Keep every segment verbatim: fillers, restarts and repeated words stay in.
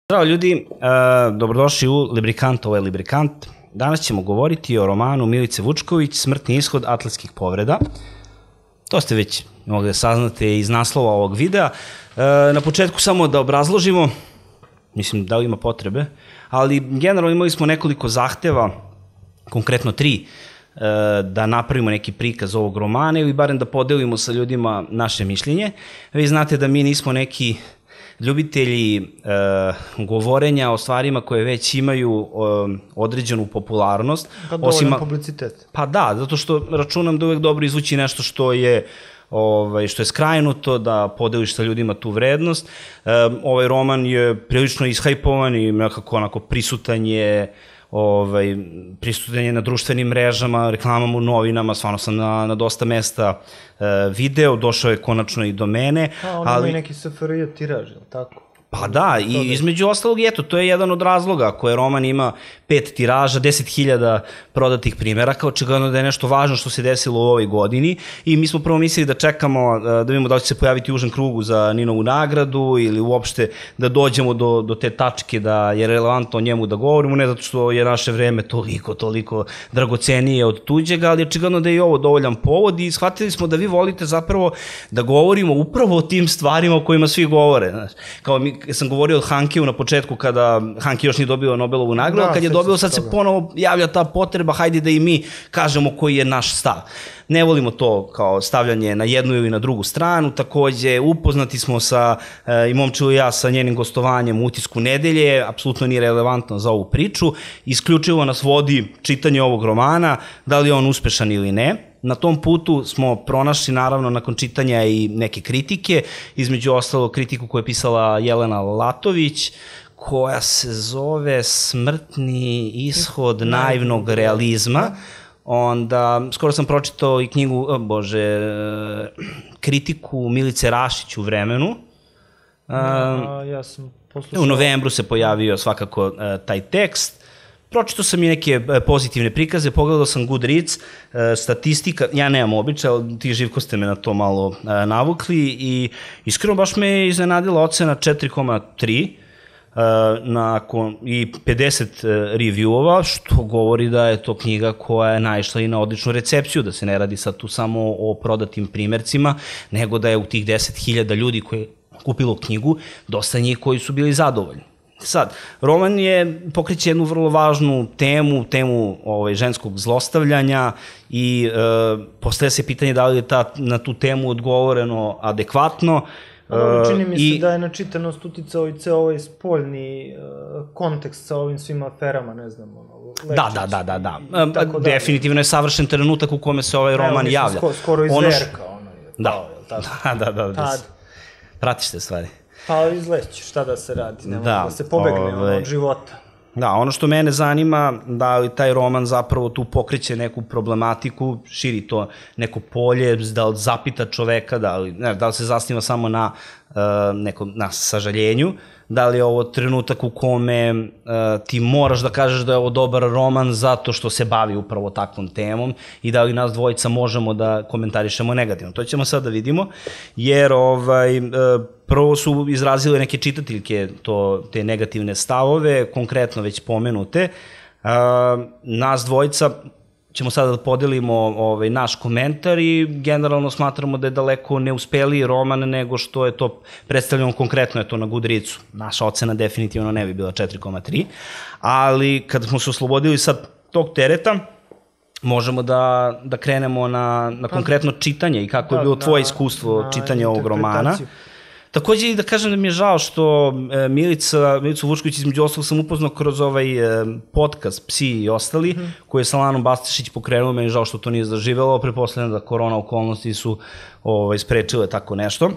Zdravo ljudi, dobrodošli u Librikant, ovo je Librikant. Danas ćemo govoriti o romanu Milice Vučković, Smrtni ishod atletskih povreda. To ste već mogli da saznate iz naslova ovog videa. Na početku samo da obrazložimo, mislim da li ima potrebe, ali generalno imali smo nekoliko zahteva, konkretno tri, da napravimo neki prikaz ovog romana ili barem da podelimo sa ljudima naše mišljenje. Vi znate da mi nismo neki ljubitelji govorenja o stvarima koje već imaju određenu popularnost. Pa dovoljno publicitet. Pa da, zato što računam da uvek dobro izvući nešto što je što je skrajnuto, da podeliš sa ljudima tu vrednost. Ovaj roman je prilično ishajpovan i nekako onako prisutan je prisutan je na društvenim mrežama, reklamama u novinama, stvarno sam na dosta mesta video, došao je konačno i do mene. A, on ima i neki S F R J tiraž, je li tako? Pa da, i između ostalog, eto, to je jedan od razloga koje roman ima pet tiraža, deset hiljada prodatih primjeraka, očigledno da je nešto važno što se desilo u ovoj godini i mi smo prvo mislili da čekamo, da vidimo da li će se pojaviti u užem krugu za Ninovu nagradu ili uopšte da dođemo do te tačke da je relevantno o njemu da govorimo, ne zato što je naše vreme toliko, toliko dragocenije od tuđega, ali očigledno da je i ovo dovoljan povod i shvatili smo da vi volite zapravo da govorimo upravo o tim stvarima o kojima svi govore, znaš, kao mi sam govorio od Hankiju na početku kada Hanki još nije dobio Nobelovu nagradu, kad je dobio sad se ponovo javlja ta potreba, hajde da i mi kažemo koji je naš stav. Ne volimo to kao stavljanje na jednu ili na drugu stranu, takođe upoznati smo sa, i Momčilo i ja, sa njenim gostovanjem u Utisku nedelje, apsolutno nije relevantno za ovu priču, isključivo nas vodi čitanje ovog romana, da li je on uspešan ili ne. Na tom putu smo pronašli, naravno, nakon čitanja i neke kritike, između ostalo kritiku koju je pisala Jelena Latović, koja se zove Smrtni ishod naivnog realizma. Onda, skoro sam pročitao i knjigu, bože, kritiku Milice Rašić u Vremenu. Ja sam poslušao. U novembru se pojavio svakako taj tekst. Pročitao sam i neke pozitivne prikaze, pogledao sam Goodreads, statistika, ja nemam običaj, ali ti Živko ste me na to malo navukli i iskreno baš me iznenadila ocena četiri zarez tri i pedeset reviewova, što govori da je to knjiga koja je naišla i na odličnu recepciju, da se ne radi sad tu samo o prodatim primercima, nego da je u tih deset hiljada ljudi koji je kupilo knjigu, dosta njih koji su bili zadovoljni. Sad, roman je pokreće jednu vrlo važnu temu, temu ženskog zlostavljanja i postavlja se pitanje da li je na tu temu odgovoreno adekvatno. Čini mi se da je na čitanost uticao i ceo ovaj spoljni kontekst sa ovim svim aferama, ne znam, Lečić. Da, da, da, da, definitivno je savršen trenutak u kome se ovaj roman javlja. Skoro iz Verka, ono je. Da, da, da, da, pratiš te stvari. Pa izleći, šta da se radi, nema da se pobegne od života. Da, ono što mene zanima, da li taj roman zapravo tu pokreće neku problematiku, širi to neko polje, da li zapita čoveka, da li se zasniva samo na nekom sažaljenju, da li je ovo trenutak u kome ti moraš da kažeš da je ovo dobar roman zato što se bavi upravo takvom temom i da li nas dvojica možemo da komentarišemo negativno. To ćemo sad da vidimo, jer prvo su izrazile neke čitateljke te negativne stavove, konkretno već pomenute. Nas dvojica ćemo sada da podelimo naš komentar i generalno smatramo da je daleko neuspeliji roman nego što je to predstavljeno konkretno je to na Goodreadsu. Naša ocena definitivno ne bi bila četiri zarez tri, ali kada smo se oslobodili sad tog tereta, možemo da krenemo na konkretno čitanje i kako je bilo tvoje iskustvo čitanja ovog romana. Takođe i da kažem da mi je žao što Milicu Vučković, između ostalog sam upoznao kroz ovaj podcast Psi i ostali, koji je Salanom Bastišić pokrenuo, meni je žao što to nije zaživelo, pretpostavljam da korona okolnosti su sprečile tako nešto.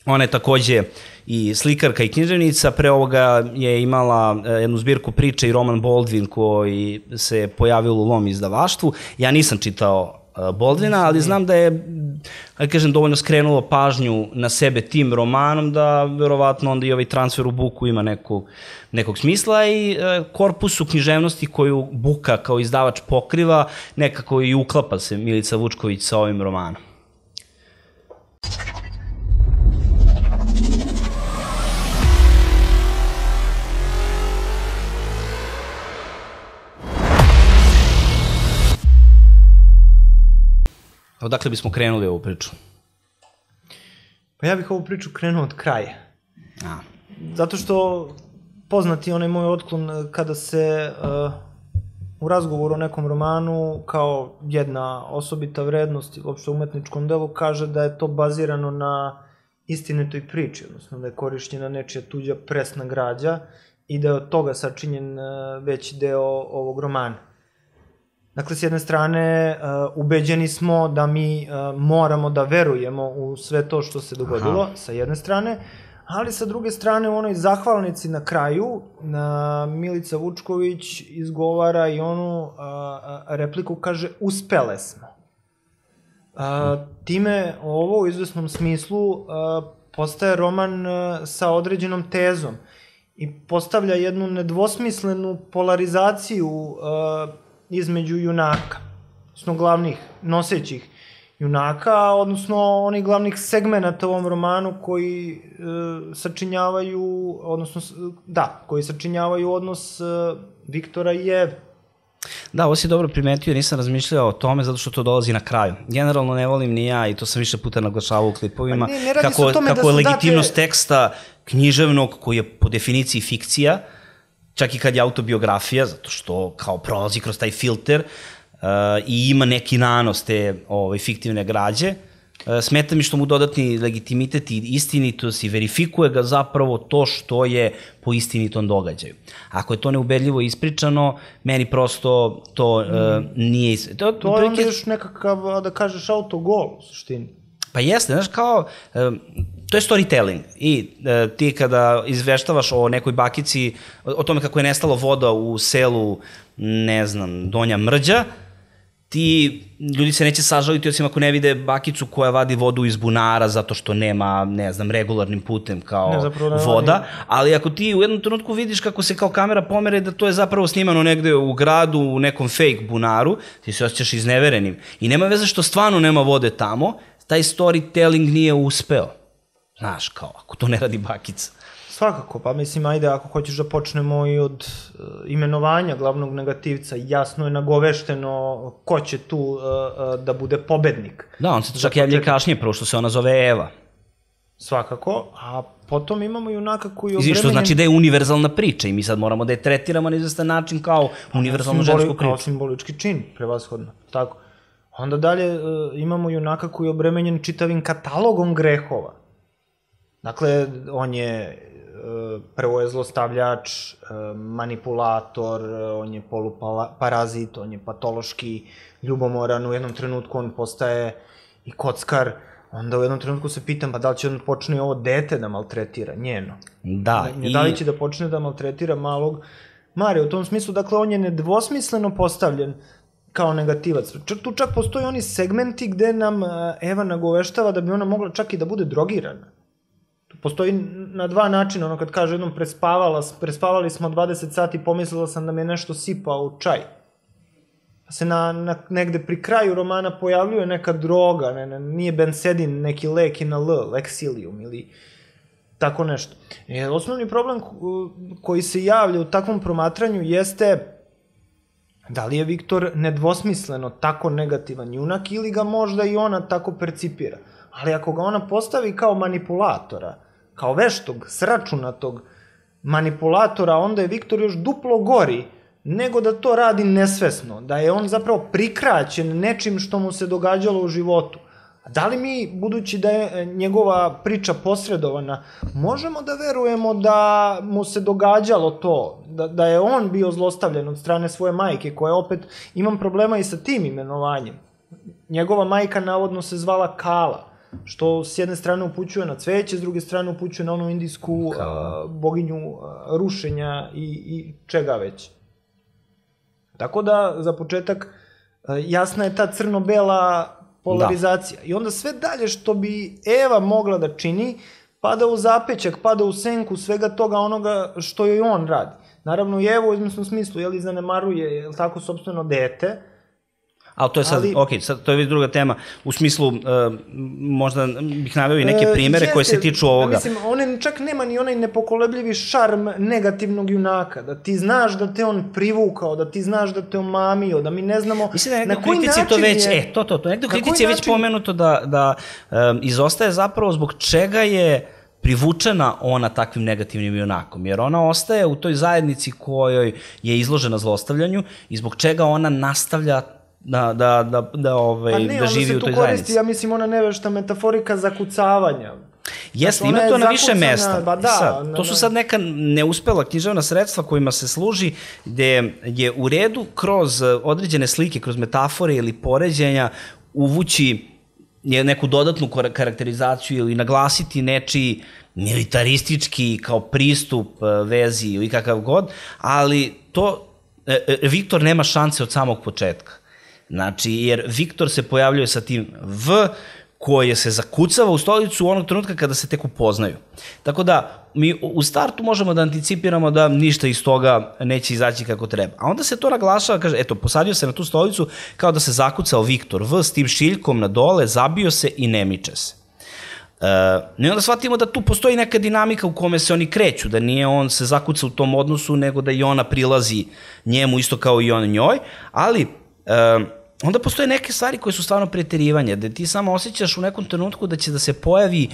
Ona je takođe i slikarka i književnica, pre ovoga je imala jednu zbirku priče i roman Baldwin koji se pojavio u Lom izdavaštvu. Ja nisam čitao Baldwina, ali znam da je, da kažem, dovoljno skrenulo pažnju na sebe tim romanom, da verovatno onda i ovaj transfer u Buku ima nekog smisla i korpusu književnosti koju Buka kao izdavač pokriva, nekako i uklapa se Milica Vučković sa ovim romanom. Odakle bismo krenuli ovu priču? Pa ja bih ovu priču krenuo od kraja. A. Zato što poznati onaj moj otklon kada se uh, u razgovoru o nekom romanu kao jedna osobita vrednost uopšte umetničkom delu kaže da je to bazirano na istinitoj priči, odnosno da je korišćena nečija tuđa presna građa i da je od toga sačinjen uh, veći deo ovog romana. Dakle, s jedne strane, uh, ubeđeni smo da mi uh, moramo da verujemo u sve to što se dogodilo, Aha. sa jedne strane, ali sa druge strane u onoj zahvalnici na kraju na Milica Vučković izgovara i onu a, a, repliku, kaže uspele smo. A, time ovo u izvesnom smislu a, postaje roman a, sa određenom tezom i postavlja jednu nedvosmislenu polarizaciju a, između junaka, odnosno glavnih nosećih junaka, odnosno onih glavnih segmenata u ovom romanu koji e, sačinjavaju, odnosno, da, koji sačinjavaju odnos e, Viktora i Eve. Da, ovo si dobro primetio, nisam razmišljao o tome zato što to dolazi na kraju. Generalno ne volim ni ja i to sam više puta naglašavao u klipovima, ne, ne kako, tome kako da je legitimnost date... teksta književnog koji je po definiciji fikcija, čak i kad je autobiografija, zato što kao prolazi kroz taj filter, Uh, i ima neki nanos te ovaj, fiktivne građe. Uh, smeta mi što mu dodatni legitimitet i istinitost i verifikuje ga zapravo to što je po istinitom događaju. Ako je to neubedljivo ispričano, meni prosto to uh, nije... Is... To, to je onda još nekakav, da kažeš, autogol u suštini. Pa jeste, znaš, kao... Uh, to je storytelling i uh, ti kada izveštavaš o nekoj bakici, o, o tome kako je nestalo voda u selu, ne znam, Donja Mrđa, ti, ljudi se neće sažaliti osim ako ne vide bakicu koja vadi vodu iz bunara zato što nema, ne znam, regularnim putem kao ne, voda, ali ako ti u jednom trenutku vidiš kako se kao kamera pomere da to je zapravo snimano negde u gradu, u nekom fake bunaru, ti se osjećaš izneverenim i nema veze što stvarno nema vode tamo, taj storytelling nije uspeo. Znaš, kao, ako to ne radi bakica. Svakako, pa mislim, ajde, ako hoćeš da počnemo i od uh, imenovanja glavnog negativca, jasno je nagovešteno ko će tu uh, uh, da bude pobednik. Da, on se čak javlja kasnije, prvo što se ona zove Eva. Svakako, a potom imamo junaka koji je obremenjen... Što znači da je univerzalna priča i mi sad moramo da je tretiramo na izvestan način kao univerzalnu Simboli, žensku priču. Kao simbolički čin, prevashodno, tako. Onda dalje uh, imamo junaka koji je obremenjen čitavim katalogom grehova. Dakle, on je, prvo je zlostavljač, manipulator, on je poluparazit, on je patološki ljubomoran, u jednom trenutku on postaje i kockar, onda u jednom trenutku se pitam, pa da li će on počne ovo dete da maltretira, njeno? Da. I... Da li će da počne da maltretira malog Marija, u tom smislu, dakle, on je nedvosmisleno postavljen kao negativac. Tu čak postoji oni segmenti gde nam Eva nagoveštava da bi ona mogla čak i da bude drogirana. Postoji na dva načina, ono kad kaže jednom prespavala, prespavali smo dvadeset sati, pomislila sam da mi je nešto sipao u čaj. Pa se na, na, negde pri kraju romana pojavljuje neka droga, ne, ne, nije bensedin, neki lek i na L, leksilium ili tako nešto. E, osnovni problem koji se javlja u takvom promatranju jeste da li je Viktor nedvosmisleno tako negativan junak ili ga možda i ona tako percipira. Ali ako ga ona postavi kao manipulatora, kao veštog, sračunatog manipulatora, onda je Viktor još duplo gori nego da to radi nesvesno, da je on zapravo prikraćen nečim što mu se događalo u životu. A da li mi, budući da je njegova priča posredovana, možemo da verujemo da mu se događalo to, da, da je on bio zlostavljen od strane svoje majke, koja opet, imam problema i sa tim imenovanjem. Njegova majka navodno se zvala Kala, što s jedne strane upućuje na cveće, s druge strane upućuje na onu indijsku uh, boginju uh, rušenja i, i čega već. Tako da, za početak, uh, jasna je ta crno-bela polarizacija. Da. I onda sve dalje što bi Eva mogla da čini, pada u zapećak, pada u senku svega toga onoga što joj on radi. Naravno, i Evo u izmesnom smislu, jel, zanemaruje, jel tako, sopstveno dete. Ali to je sad, ali, ok, sad to je već druga tema. U smislu, uh, možda bih naveo i neke primere uh, koje se tiču ovoga. Mislim, on čak nema ni onaj nepokolebljivi šarm negativnog junaka, da ti znaš da te on privukao, da ti znaš da te omamio, da mi ne znamo mislim da na koji način to već, je... E, to, to, to. Nekde u kritici je već način... pomenuto da, da um, izostaje zapravo zbog čega je privučena ona takvim negativnim junakom, jer ona ostaje u toj zajednici kojoj je izložena zlostavljanju i zbog čega ona nastavlja da, da, da, da, ovaj, pa ne, da živi u toj koristi, zajednici. Ja mislim, ona nevešta metaforika zakucavanja. Jeste, znači, ima to na više mesta. Ba da, sad, na, to su sad neka neuspela književna sredstva kojima se služi, gde je u redu kroz određene slike, kroz metafore ili poređenja uvući neku dodatnu karakterizaciju ili naglasiti nečiji militaristički kao pristup vezi ili kakav god, ali to Viktor nema šanse od samog početka. Znači, jer Viktor se pojavljuje sa tim V koje se zakucava u stolicu onog trenutka kada se tek upoznaju. Tako da, mi u startu možemo da anticipiramo da ništa iz toga neće izaći kako treba. A onda se to naglašava, kaže, eto, posadio se na tu stolicu kao da se zakucao Viktor V s tim šiljkom na dole, zabio se i ne miče se. Uh, I onda shvatimo da tu postoji neka dinamika u kome se oni kreću, da nije on se zakuca u tom odnosu, nego da i ona prilazi njemu isto kao i on njoj, ali uh, onda postoje neke stvari koje su stvarno preterivanje, da ti samo osjećaš u nekom trenutku da će da se pojavi,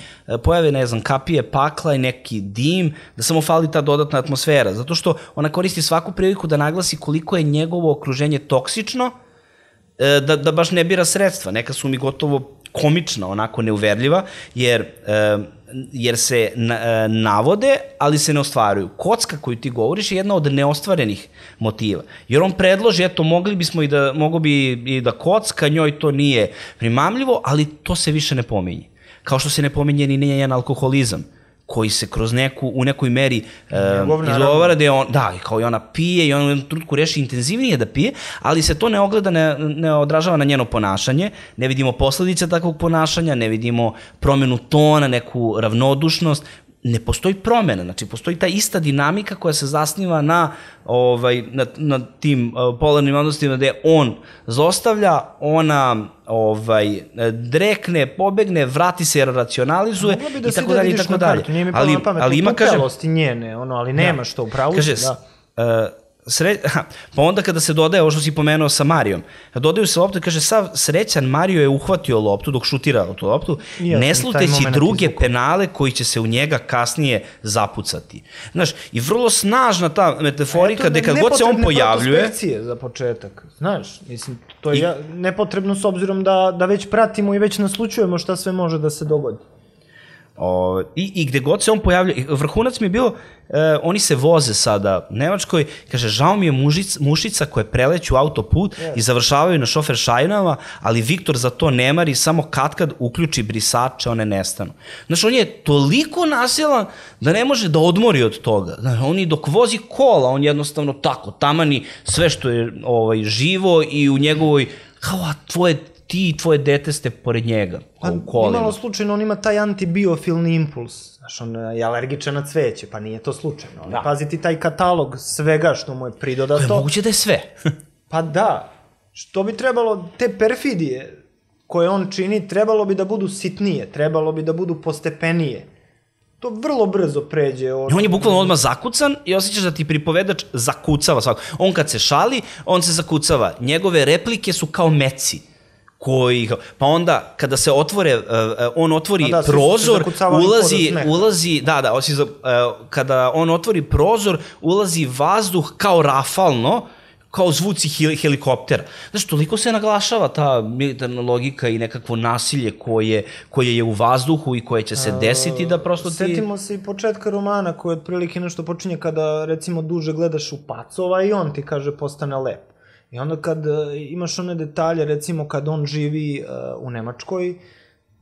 pojave, ne znam, kapije pakla i neki dim, da samo fali ta dodatna atmosfera, zato što ona koristi svaku priliku da naglasi koliko je njegovo okruženje toksično, da, da baš ne bira sredstva. Neka su mi gotovo komična, onako neuverljiva, jer, jer se navode, ali se ne ostvaruju. Kocka koju ti govoriš je jedna od neostvarenih motiva. Jer on predloži, eto, mogli bismo i da, mogo bi i da kocka, njoj to nije primamljivo, ali to se više ne pominje. Kao što se ne pominje ni njen alkoholizam, koji se kroz neku, u nekoj meri um, izgovara da je on, da, kao i ona pije i on u jednom trenutku reši intenzivnije da pije, ali se to ne ogleda, ne, ne odražava na njeno ponašanje, ne vidimo posledice takvog ponašanja, ne vidimo promenu tona, neku ravnodušnost, ne postoji promena, znači postoji ta ista dinamika koja se zasniva na, ovaj, na, na tim uh, polarnim odnosima gde on zostavlja, ona ovaj, drekne, pobegne, vrati se, racionalizuje i tako dalje i tako dalje. Ali, ali ima, kaže... njene, ono, ali nemaš to u pravu. Kaže, da. Uh, Sre... pa onda kada se dodaje, ovo što si pomenuo sa Marijom, dodaju se loptu i kaže, sav srećan Mario je uhvatio loptu dok šutira tu loptu, ja, ne sluteći druge izvuku. penale koji će se u njega kasnije zapucati. Znaš, i vrlo snažna ta metaforika, gde kad god se on pojavljuje... Nepotrebne za početak, znaš, mislim, to je I... ja, nepotrebno s obzirom da, da već pratimo i već naslučujemo šta sve može da se dogodi. O, i, I gde god se on pojavlja, vrhunac mi je bilo, e, oni se voze sada u Nemačkoj, kaže, žao mi je mužic, mušica koje preleću autoput yes. i završavaju na šofer šajnama, ali Viktor za to ne mari, samo katkad uključi brisače, one nestanu. Znaš, on je toliko nasilan da ne može da odmori od toga. Znaš, on i dok vozi kola, on jednostavno tako, tamani sve što je ovaj, živo i u njegovoj, kao, a tvoje ti i tvoje dete ste pored njega, pa, u kolima. Imalo slučajno, on ima taj antibiofilni impuls. Znaš, on je alergičan na cveće, pa nije to slučajno. Da. Pazi ti taj katalog svega što mu je pridodato. To je moguće da je sve. Pa da. Što bi trebalo, te perfidije koje on čini, trebalo bi da budu sitnije, trebalo bi da budu postepenije. To vrlo brzo pređe. Od... On je bukvalno odmah zakucan i osjećaš da ti pripovedač zakucava svako. On kad se šali, on se zakucava. Njegove replike su kao meci. Koji, pa onda kada se otvore, uh, on otvori da, prozor, ulazi, ulazi, da, da, osi, uh, kada on otvori prozor, ulazi vazduh kao rafalno, kao zvuci hel helikoptera. Znaš, toliko se naglašava ta militarna logika i nekakvo nasilje koje, koje je u vazduhu i koje će se desiti da prosto ti... Setimo se i početka romana koji otprilike nešto počinje kada recimo duže gledaš u pacova i on ti kaže postane lep. I onda kad uh, imaš one detalje, recimo kad on živi uh, u Nemačkoj,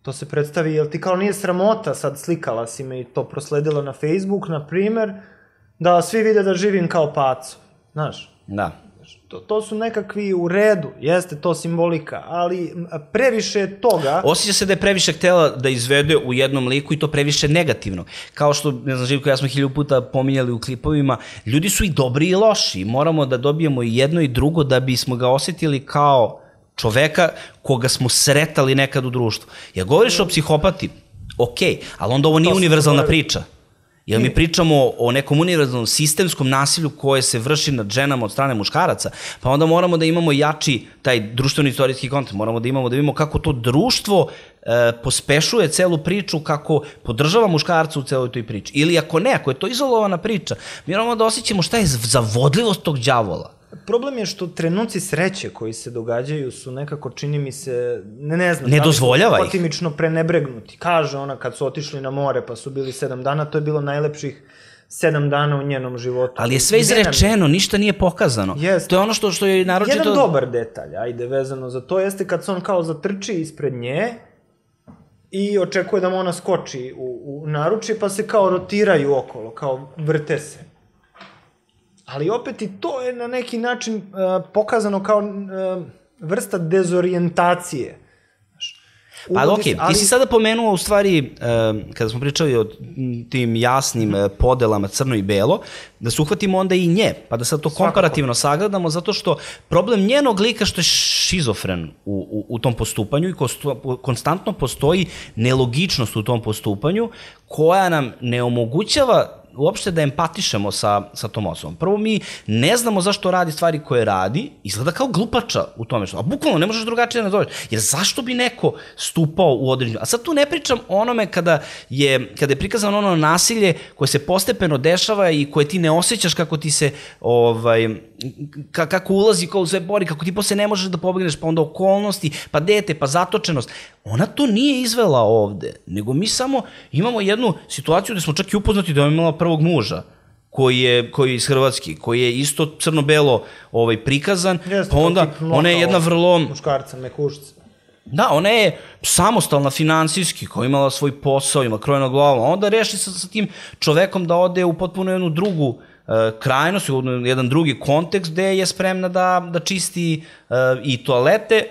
to se predstavi, jel ti kao nije sramota, sad slikala si me i to prosledila na Facebook, na primer, da svi vide da živim kao paco, znaš? Da. To, to su nekakvi u redu, jeste to simbolika, ali previše toga... Osjeća se da je previše htjela da izvede u jednom liku i to previše negativno. Kao što, ne znam, Živko, ja smo hilju puta pominjali u klipovima, ljudi su i dobri i loši. Moramo da dobijemo i jedno i drugo da bismo ga osjetili kao čoveka koga smo sretali nekad u društvu. Ja govoriš o psihopati, okej, ali onda ovo nije univerzalna priča. Jer mi pričamo o nekom univerzalnom sistemskom nasilju koje se vrši nad ženama od strane muškaraca, pa onda moramo da imamo jači taj društveno istorijski kontekst, moramo da imamo da vidimo kako to društvo e, pospešuje celu priču, kako podržava muškarca u celoj toj priči. Ili ako ne, ako je to izolovana priča, mi moramo da osjećamo šta je zavodljivost tog đavola. Problem je što trenuci sreće koji se događaju su nekako, čini mi se, ne, ne znam, ne dozvoljava ih. Potimično prenebregnuti. Kaže ona kad su otišli na more pa su bili sedam dana, to je bilo najlepših sedam dana u njenom životu. Ali je sve izrečeno, ništa nije pokazano. Jest. To je ono što, što je naročito... Jedan dobar detalj, ajde, vezano za to, jeste kad se on kao zatrči ispred nje i očekuje da mu ona skoči u, u naručje, pa se kao rotiraju okolo, kao vrte se. Ali opet i to je na neki način uh, pokazano kao uh, vrsta dezorijentacije. Pa okej, okay. Ti si sada pomenuo u stvari, uh, kada smo pričali o tim jasnim uh, podelama crno i belo, da se uhvatimo onda i nje, pa da sad to Svakako. komparativno sagledamo, zato što problem njenog lika što je šizofren u, u, u tom postupanju i kostu, konstantno postoji nelogičnost u tom postupanju koja nam ne omogućava uopšte da empatišemo sa, sa tom osobom. Prvo, mi ne znamo zašto radi stvari koje radi, izgleda kao glupača u tome što, a bukvalno ne možeš drugačije da nazoveš, jer zašto bi neko stupao u određenju, a sad tu ne pričam o onome kada je, kada je prikazano ono nasilje koje se postepeno dešava i koje ti ne osjećaš kako ti se, ovaj, ka, kako ulazi, kako sve bori, kako ti posle ne možeš da pobegneš, pa onda okolnosti, pa dete, pa zatočenost. Ona to nije izvela ovde, nego mi samo imamo jednu situaciju gde smo čak i upoznati da je imala prvog muža, koji je, koji je iz Hrvatske, koji je isto crno-belo ovaj, prikazan, Jeste, pa onda ona je jedna vrlo... Muškarca, mekušca. Da, ona je samostalna finansijski, koja je imala svoj posao, ima krojeno glavu, a onda reši sa, sa tim čovekom da ode u potpuno jednu drugu uh, krajnost, u jedan drugi kontekst gde je spremna da, da čisti uh, i toalete,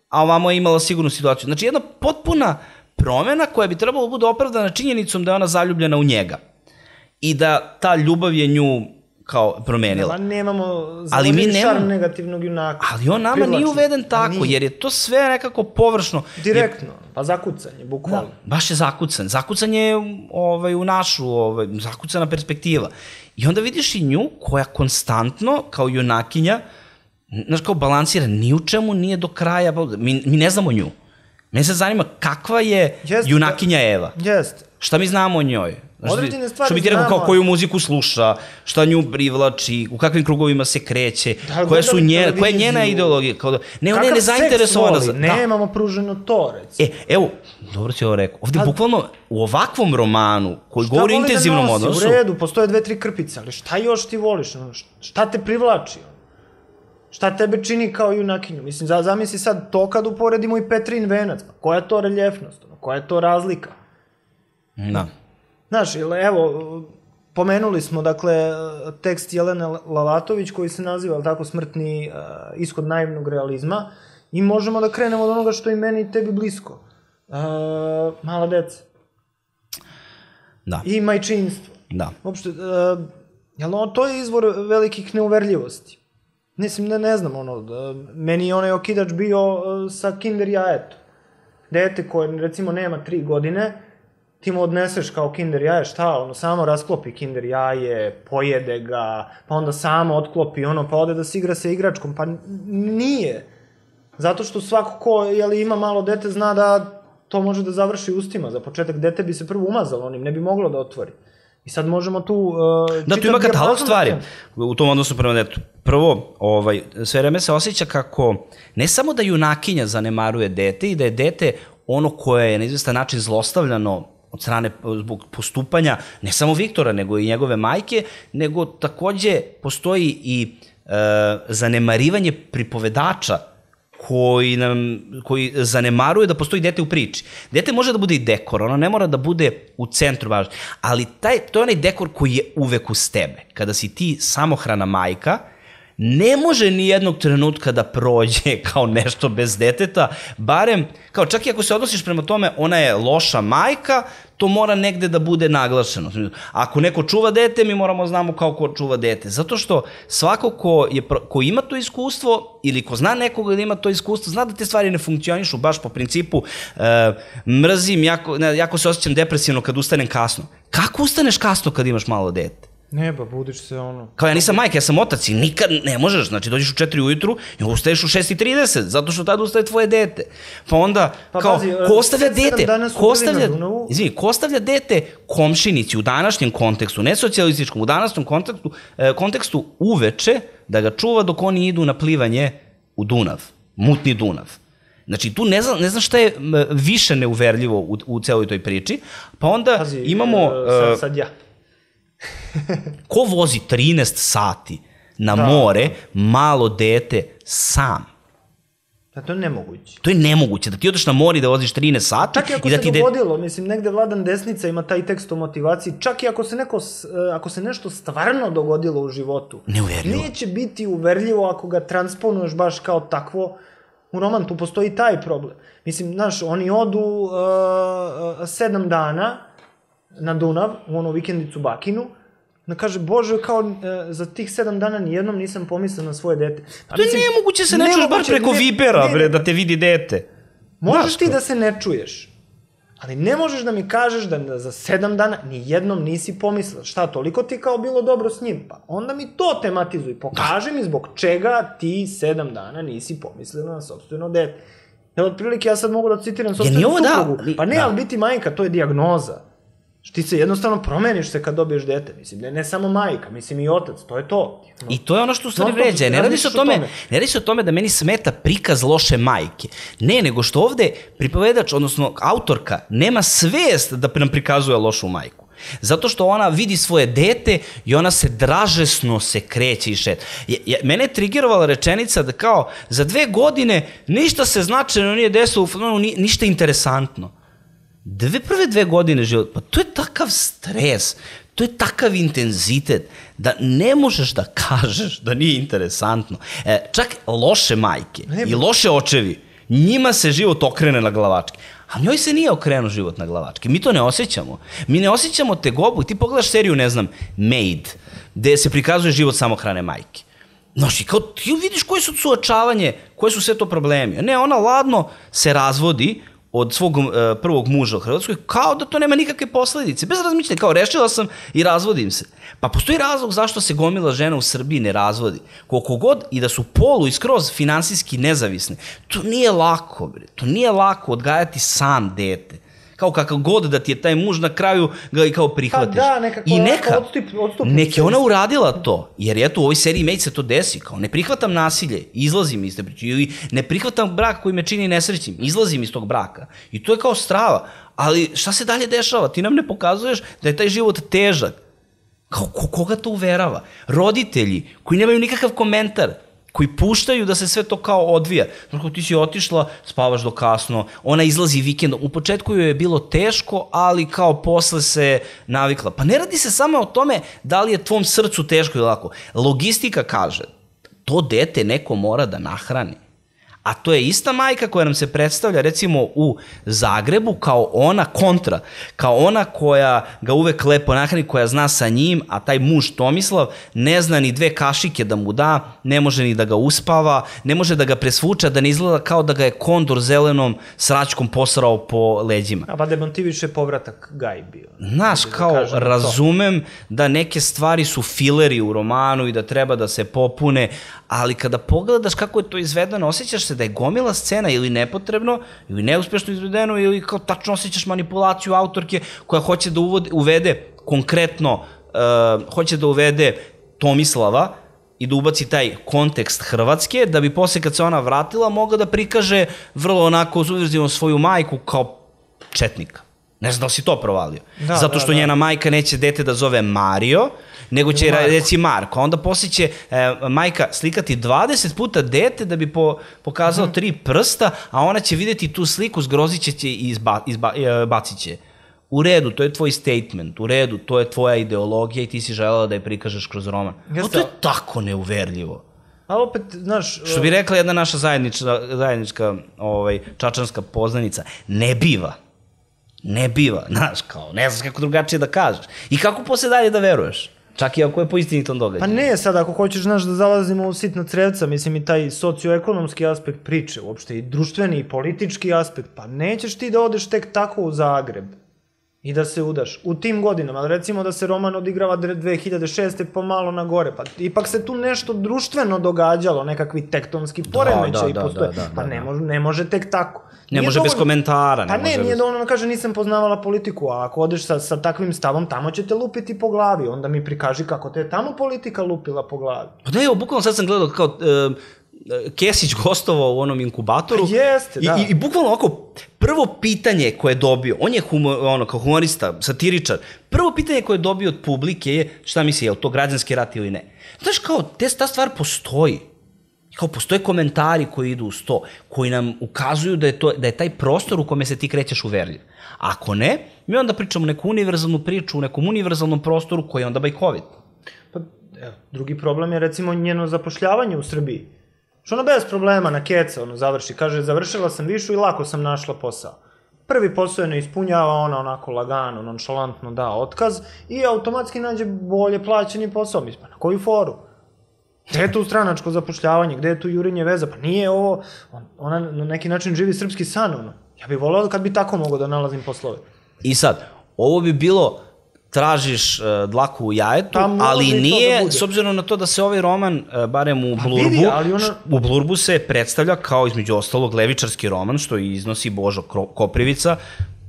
a ovamo je imala sigurnu situaciju. Znači, jedna potpuna promena koja bi trebala da bude opravdana činjenicom da je ona zaljubljena u njega. I da ta ljubav je nju kao promenila. Nema, nemamo zavodljiv šarm negativnog junaka. Ali on nama Privlačno. Nije uveden tako, nije. Jer je to sve nekako površno. Direktno, pa zakucanje, bukvalno. Da, baš je zakucan. Zakucanje je ovaj, u našu, ovaj, zakucana perspektiva. I onda vidiš i nju koja konstantno, kao junakinja, znaš, kao balansira, ni u čemu nije do kraja, mi, mi ne znamo nju. Mene se zanima kakva je jest, junakinja Eva. Jeste. Šta mi znamo o njoj? Znaš, određene stvari što bi ti rekao, kao koju muziku sluša, šta nju privlači, u kakvim krugovima se kreće, da, koja, su njena, koja je njena ideologija. Kao da, ne, ona je nezainteresovana. Za, ne, imamo da. Pruženo to, recimo. E, evo, dobro si ovo rekao. Ovde, da, bukvalno, u ovakvom romanu, koji govori o intenzivnom odnosu... U redu, postoje dve, tri krpice, ali šta još ti voliš? Šta te privlači? Šta tebe čini kao junakinju? Mislim, zamisli sad to kad uporedimo i Petrin venac. Pa koja je to reljefnost? Koja je to razlika? Da. Znaš, evo, pomenuli smo, dakle, tekst Jelene Lalatović koji se naziva, tako, Smrtni uh, ishod naivnog realizma i možemo da krenemo od onoga što je meni i tebi blisko. Uh, mala deca. Da. I majčinstvo. Da. Uopšte, uh, jel, to je izvor velikih neuverljivosti. Mislim, ne, ne znam, ono, da, meni je onaj okidač bio uh, sa kinder jajetom. Dete koje, recimo, nema tri godine, ti mu odneseš kao kinder jaje, šta, ono, samo rasklopi kinder jaje, pojede ga, pa onda samo otklopi ono, pa ode da se igra sa igračkom, pa nije. Zato što svako ko, jeli, ima malo dete, zna da to može da završi ustima. Za početak, dete bi se prvo umazalo onim, ne bi moglo da otvori. I sad možemo tu... Uh, da, tu ima katalog stvari u tom odnosu prema detetu. Prvo, ovaj, sve vreme se osjeća kako, ne samo da junakinja zanemaruje dete i da je dete ono koje je na izvestan način zlostavljano od strane zbog postupanja ne samo Viktora, nego i njegove majke, nego takođe postoji i e, zanemarivanje pripovedača koji, nam, koji zanemaruje da postoji dete u priči. Dete može da bude i dekor, ono ne mora da bude u centru važno, ali taj, to je onaj dekor koji je uvek uz tebe. Kada si ti samohrana majka, ne može ni jednog trenutka da prođe kao nešto bez deteta, barem, kao čak i ako se odnosiš prema tome, ona je loša majka, to mora negde da bude naglašeno. Ako neko čuva dete, mi moramo znamo kao ko čuva dete. Zato što svako ko, je, ko ima to iskustvo ili ko zna nekoga da ima to iskustvo, zna da te stvari ne funkcionišu baš po principu uh, mrzim, jako, ne, jako se osjećam depresivno kad ustanem kasno. Kako ustaneš kasno kad imaš malo dete? Ne, ba, budiš se ono... Kao ja nisam majka, ja sam otac i nikad ne možeš, znači dođeš u četiri ujutru i ustaješ u šest i trideset, zato što tada ustaje tvoje dete. Pa onda, pa, kao, bazi, ko ostavlja dete, ko ostavlja, izvini, ko ostavlja dete komšinici u današnjem kontekstu, ne socijalističkom, u današnjem kontekstu, eh, kontekstu uveče da ga čuva dok oni idu na plivanje u Dunav, mutni Dunav. Znači, tu ne znam, ne znam šta je više neuverljivo u, u celoj toj priči, pa onda Pazi, imamo... Uh, sad, sad ja. Ko vozi trinaest sati na da. more, malo dete, sam? Da, to je nemoguće. To je nemoguće, da ti odeš na more i da voziš trinaest sati. Čak i ako i da se ti dogodilo, de... mislim, negde Vladan Desnica ima taj tekst o motivaciji, čak i ako se, neko, ako se nešto stvarno dogodilo u životu, neuverljivo. Neće biti uverljivo ako ga transponuješ baš kao takvo u roman, tu postoji taj problem. Mislim, znaš, oni odu uh, sedam dana na Dunav, u onu vikendicu Bakinu, da kaže, Bože, kao e, za tih sedam dana nijednom nisam pomislio na svoje dete. A, to mislim, je nemoguće se ne čuješ bar preko ne, Vibera, ne, bre, da te vidi dete. Možeš Znaš ti to? Da se ne čuješ, ali ne možeš da mi kažeš da za sedam dana nijednom nisi pomislio. Šta, toliko ti kao bilo dobro s njim? Pa onda mi to tematizuj, pokaži mi zbog čega ti sedam dana nisi pomislio na sopstveno dete. Evo, otprilike, ja sad mogu da citiram sopstvenu suprugu. Da, pa ne, da. Ali biti majka, to je dijagnoza. Ti se jednostavno promeniš se kad dobiješ dete, mislim, ne, ne samo majka, mislim i otac, to je to. No. I to je ono što u stvari vređa, ne radi se o tome, ne radi se o tome da meni smeta prikaz loše majke, ne, nego što ovde pripovedač, odnosno autorka, nema svest da nam prikazuje lošu majku. Zato što ona vidi svoje dete i ona se dražesno se kreće i šeta. Mene je trigerovala rečenica da kao za dve godine ništa se značajno nije desilo, ništa interesantno. Dve prve dve godine života, pa to je takav stres, to je takav intenzitet, da ne možeš da kažeš da nije interesantno. E, čak loše majke ne, i loše očevi, njima se život okrene na glavačke. A njoj se nije okrenuo život na glavačke. Mi to ne osjećamo. Mi ne osjećamo tegobu. Ti pogledaš seriju, ne znam, Maid, gde se prikazuje život samohrane majke. Znaš, i kao ti vidiš koje su suočavanje, koje su sve to problemi. Ne, ona ladno se razvodi od svog uh, prvog muža u Hrvatskoj, kao da to nema nikakve posledice. Bez razmišljanja, kao rešila sam i razvodim se. Pa postoji razlog zašto se gomila žena u Srbiji ne razvodi. Koliko god i da su polu i skroz finansijski nezavisne, to nije lako, bre. To nije lako odgajati sam dete. Kao kakav god da ti je taj muž, na kraju ga i kao prihvatiš. Pa da, nekako I neka, odstup, odstup, neka ona uradila to, jer eto u ovoj seriji Maid se to desi, kao ne prihvatam nasilje, izlazim iz te priče, ili ne prihvatam brak koji me čini nesrećnim, izlazim iz tog braka. I to je kao strava, ali šta se dalje dešava? Ti nam ne pokazuješ da je taj život težak. Kao, ko, koga to uverava? Roditelji koji nemaju nikakav komentar, koji puštaju da se sve to kao odvija. Znači, ti si otišla, spavaš do kasno, ona izlazi vikendom. U početku joj je bilo teško, ali kao posle se navikla. Pa ne radi se samo o tome da li je tvom srcu teško ili lako. Logistika kaže, to dete neko mora da nahrani. A to je ista majka koja nam se predstavlja recimo u Zagrebu kao ona kontra, kao ona koja ga uvek lepo nahrani, koja zna sa njim, a taj muž Tomislav ne zna ni dve kašike da mu da, ne može ni da ga uspava, ne može da ga presvuča, da ne izgleda kao da ga je kondor zelenom sračkom posrao po leđima. A pa demontiviš je povratak Gaj bio. Znaš, kao da razumem da neke stvari su fileri u romanu i da treba da se popune, ali kada pogledaš kako je to izvedeno, osjećaš se da je gomila scena ili nepotrebno, ili neuspešno izvedeno, ili kao tačno osjećaš manipulaciju autorke koja hoće da uvode, uvede konkretno, uh, hoće da uvede Tomislava i da ubaci taj kontekst Hrvatske, da bi posle kad se ona vratila mogla da prikaže vrlo onako uzuvrzivno svoju majku kao četnika. Ne znam da si to provalio. Da, Zato što da, da. njena majka neće dete da zove Mario, nego će Marko. reći Marko. Onda posle će e, majka slikati dvadeset puta dete da bi po, pokazao uh-huh. tri prsta, a ona će videti tu sliku, zgrozit će će i izba, izba, e, bacit će. U redu, to je tvoj statement, u redu, to je tvoja ideologija i ti si želela da je prikažeš kroz roman. No, to je tako neuverljivo. A opet, znaš... Što bi rekla jedna naša zajednička, zajednička ovaj, čačanska poznanica, ne biva. Ne biva, znaš, kao, ne znaš kako drugačije da kažeš. I kako posle dalje da veruješ? Čak i ako je po istinitom događaju. Pa ne, sad ako hoćeš, znaš, da zalazimo u sitna crevca, mislim i taj socioekonomski aspekt priče, uopšte i društveni i politički aspekt, pa nećeš ti da odeš tek tako u Zagreb i da se udaš u tim godinama, ali recimo da se roman odigrava dve hiljade šeste pa malo na gore, pa ipak se tu nešto društveno događalo, nekakvi tektonski poremećaji postoje, pa ne može, ne može tek tako. Ne može bez komentara. Pa ne, nije dovoljno da kaže nisam poznavala politiku, a ako odeš sa, sa takvim stavom, tamo će te lupiti po glavi, onda mi prikaži kako te je tamo politika lupila po glavi. Pa da, evo, bukvalno sad sam gledao kao uh, Kesić gostovao u onom inkubatoru. Pa jeste, da. I, i, i bukvalno ovako, prvo pitanje koje je dobio, on je humor, ono, kao humorista, satiričar, prvo pitanje koje je dobio od publike je, šta misli, je li to građanski rat ili ne? Znaš, kao, te, ta stvar postoji. Kao postoje komentari koji idu uz to, koji nam ukazuju da je, to, da je taj prostor u kome se ti krećeš uverljiv. Ako ne, mi onda pričamo neku univerzalnu priču u nekom univerzalnom prostoru koji je onda bajkovit. Pa, evo, drugi problem je recimo njeno zapošljavanje u Srbiji. Što ona bez problema na keca ono završi, kaže završila sam višu i lako sam našla posao. Prvi posao je ne ispunjava, ona onako lagano, nonšalantno da otkaz i automatski nađe bolje plaćeni posao. Mislim, pa na koju foru? Gde je tu stranačko zapošljavanje, gde je tu jurenje veza? Pa nije ovo, ona na neki način živi srpski san, ono. Ja bih volao kad bi tako mogao da nalazim poslove. I sad, ovo bi bilo, tražiš uh, dlaku u jajetu, ali nije, da s obzirom na to da se ovaj roman, uh, barem u pa Blurbu, vidi, ona... u Blurbu se predstavlja kao između ostalog levičarski roman, što iznosi Božo Koprivica,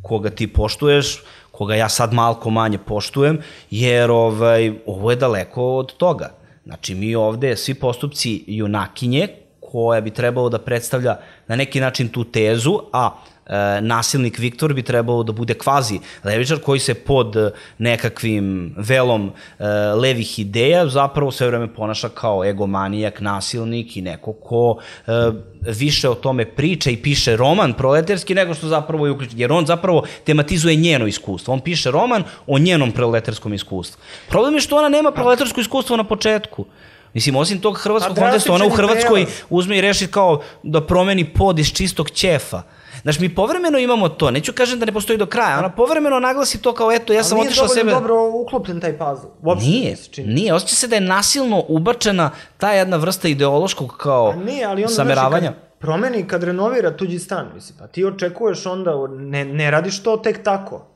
koga ti poštuješ, koga ja sad malko manje poštujem, jer ovaj, ovo je daleko od toga. Znači, mi ovde, svi postupci junakinje, koja bi trebalo da predstavlja na neki način tu tezu, a e, nasilnik Viktor bi trebalo da bude kvazi levičar koji se pod nekakvim velom e, levih ideja zapravo sve vreme ponaša kao egomanijak, nasilnik i neko ko e, više o tome priča i piše roman proletarski nego što zapravo je uključen. Jer on zapravo tematizuje njeno iskustvo. On piše roman o njenom proletarskom iskustvu. Problem je što ona nema proletarsko iskustvo na početku. Mislim, osim tog hrvatskog konteksta, ona u Hrvatskoj uzme i reši kao da promeni pod iz čistog ćefa. Znaš, mi povremeno imamo to, neću kažem da ne postoji do kraja, ona povremeno naglasi to kao, eto, ja sam otišla sebe... Ali nije dobro uklopljen taj puzzle. Nije, nije, osjeća se da je nasilno ubačena ta jedna vrsta ideološkog kao nije, ali onda, sameravanja. Znači, kad promeni, kad renovira tuđi stan, mislim, pa ti očekuješ onda, ne, ne radiš to tek tako,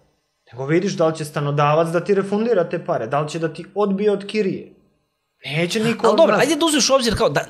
nego vidiš da li će stanodavac da ti refundira te pare, da li će da ti odbije od kirije. Neće niko... Ali dobro, ajde da uzmeš u obzir kao da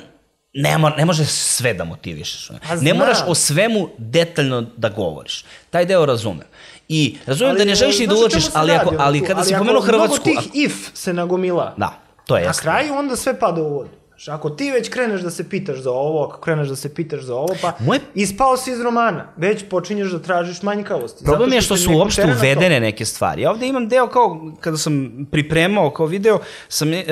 ne, mo, ne može sve da motivišeš. Ne moraš o svemu detaljno da govoriš. Taj deo razumem. I razumem da ne želiš ni da ulačiš, ali, ako, ali kada si pomenuo Hrvatsku... Ali ako mnogo tih if se nagomila, da, to je na kraju onda sve pada u vodu. Ako ti već kreneš da se pitaš za ovo, ako kreneš da se pitaš za ovo, pa Moje... ispao si iz romana, već počinješ da tražiš manjkavosti. Problem je što su uopšte uvedene neke stvari. Ja ovde imam deo kao, kada sam pripremao kao video, sam e,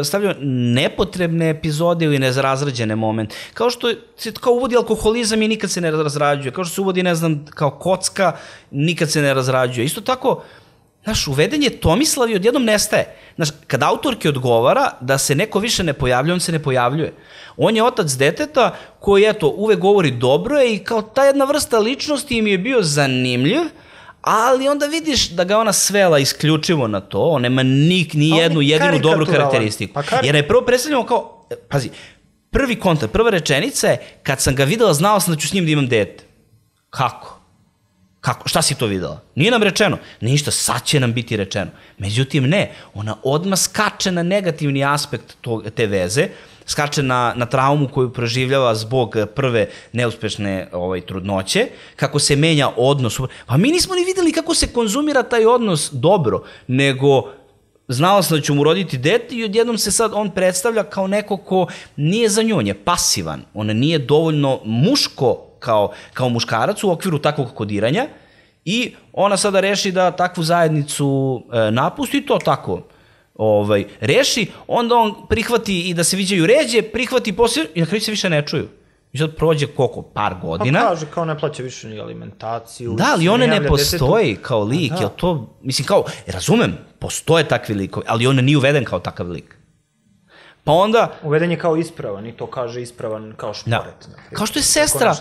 stavljao nepotrebne epizode ili nezrazrađene momente. Kao što se kao uvodi alkoholizam i nikad se ne razrađuje. Kao što se uvodi, ne znam, kao kocka, nikad se ne razrađuje. Isto tako, znaš, uveden je Tomislav i odjednom nestaje. Znaš, kad autorki odgovara da se neko više ne pojavljuje, on se ne pojavljuje. On je otac deteta koji, eto, uvek govori dobro je i kao ta jedna vrsta ličnosti im je bio zanimljiv, ali onda vidiš da ga ona svela isključivo na to, on nema nik, ni jednu jedinu dobru karakteristiku. Pa kar... Jer je prvo predstavljamo kao, pazi, prvi kontakt, prva rečenica je, kad sam ga videla, znao sam da ću s njim da imam dete. Kako? Kako? Šta si to videla? Nije nam rečeno. Ništa, sad će nam biti rečeno. Međutim, ne. Ona odmah skače na negativni aspekt tog, te veze, skače na, na traumu koju proživljava zbog prve neuspešne ovaj, trudnoće, kako se menja odnos. Pa mi nismo ni videli kako se konzumira taj odnos dobro, nego znala sam da ću mu roditi dete i odjednom se sad on predstavlja kao neko ko nije za nju, on je pasivan. On nije dovoljno muško Kao, kao muškarac u okviru takvog kodiranja i ona sada reši da takvu zajednicu e, napusti i to tako ovaj, reši, onda on prihvati i da se viđaju ređe, prihvati poslije i na kraju se više ne čuju. I sad prođe koliko? Par godina. Pa kaže kao ne plaća više ni alimentaciju. Da, ali one ne postoji detetu. Kao lik, jel to, mislim kao, razumem, postoje takvi likovi, ali on nije uveden kao takav lik. Pa onda... Uveden je kao ispravan i to kaže ispravan kao šporet. Da. Kao što je sestra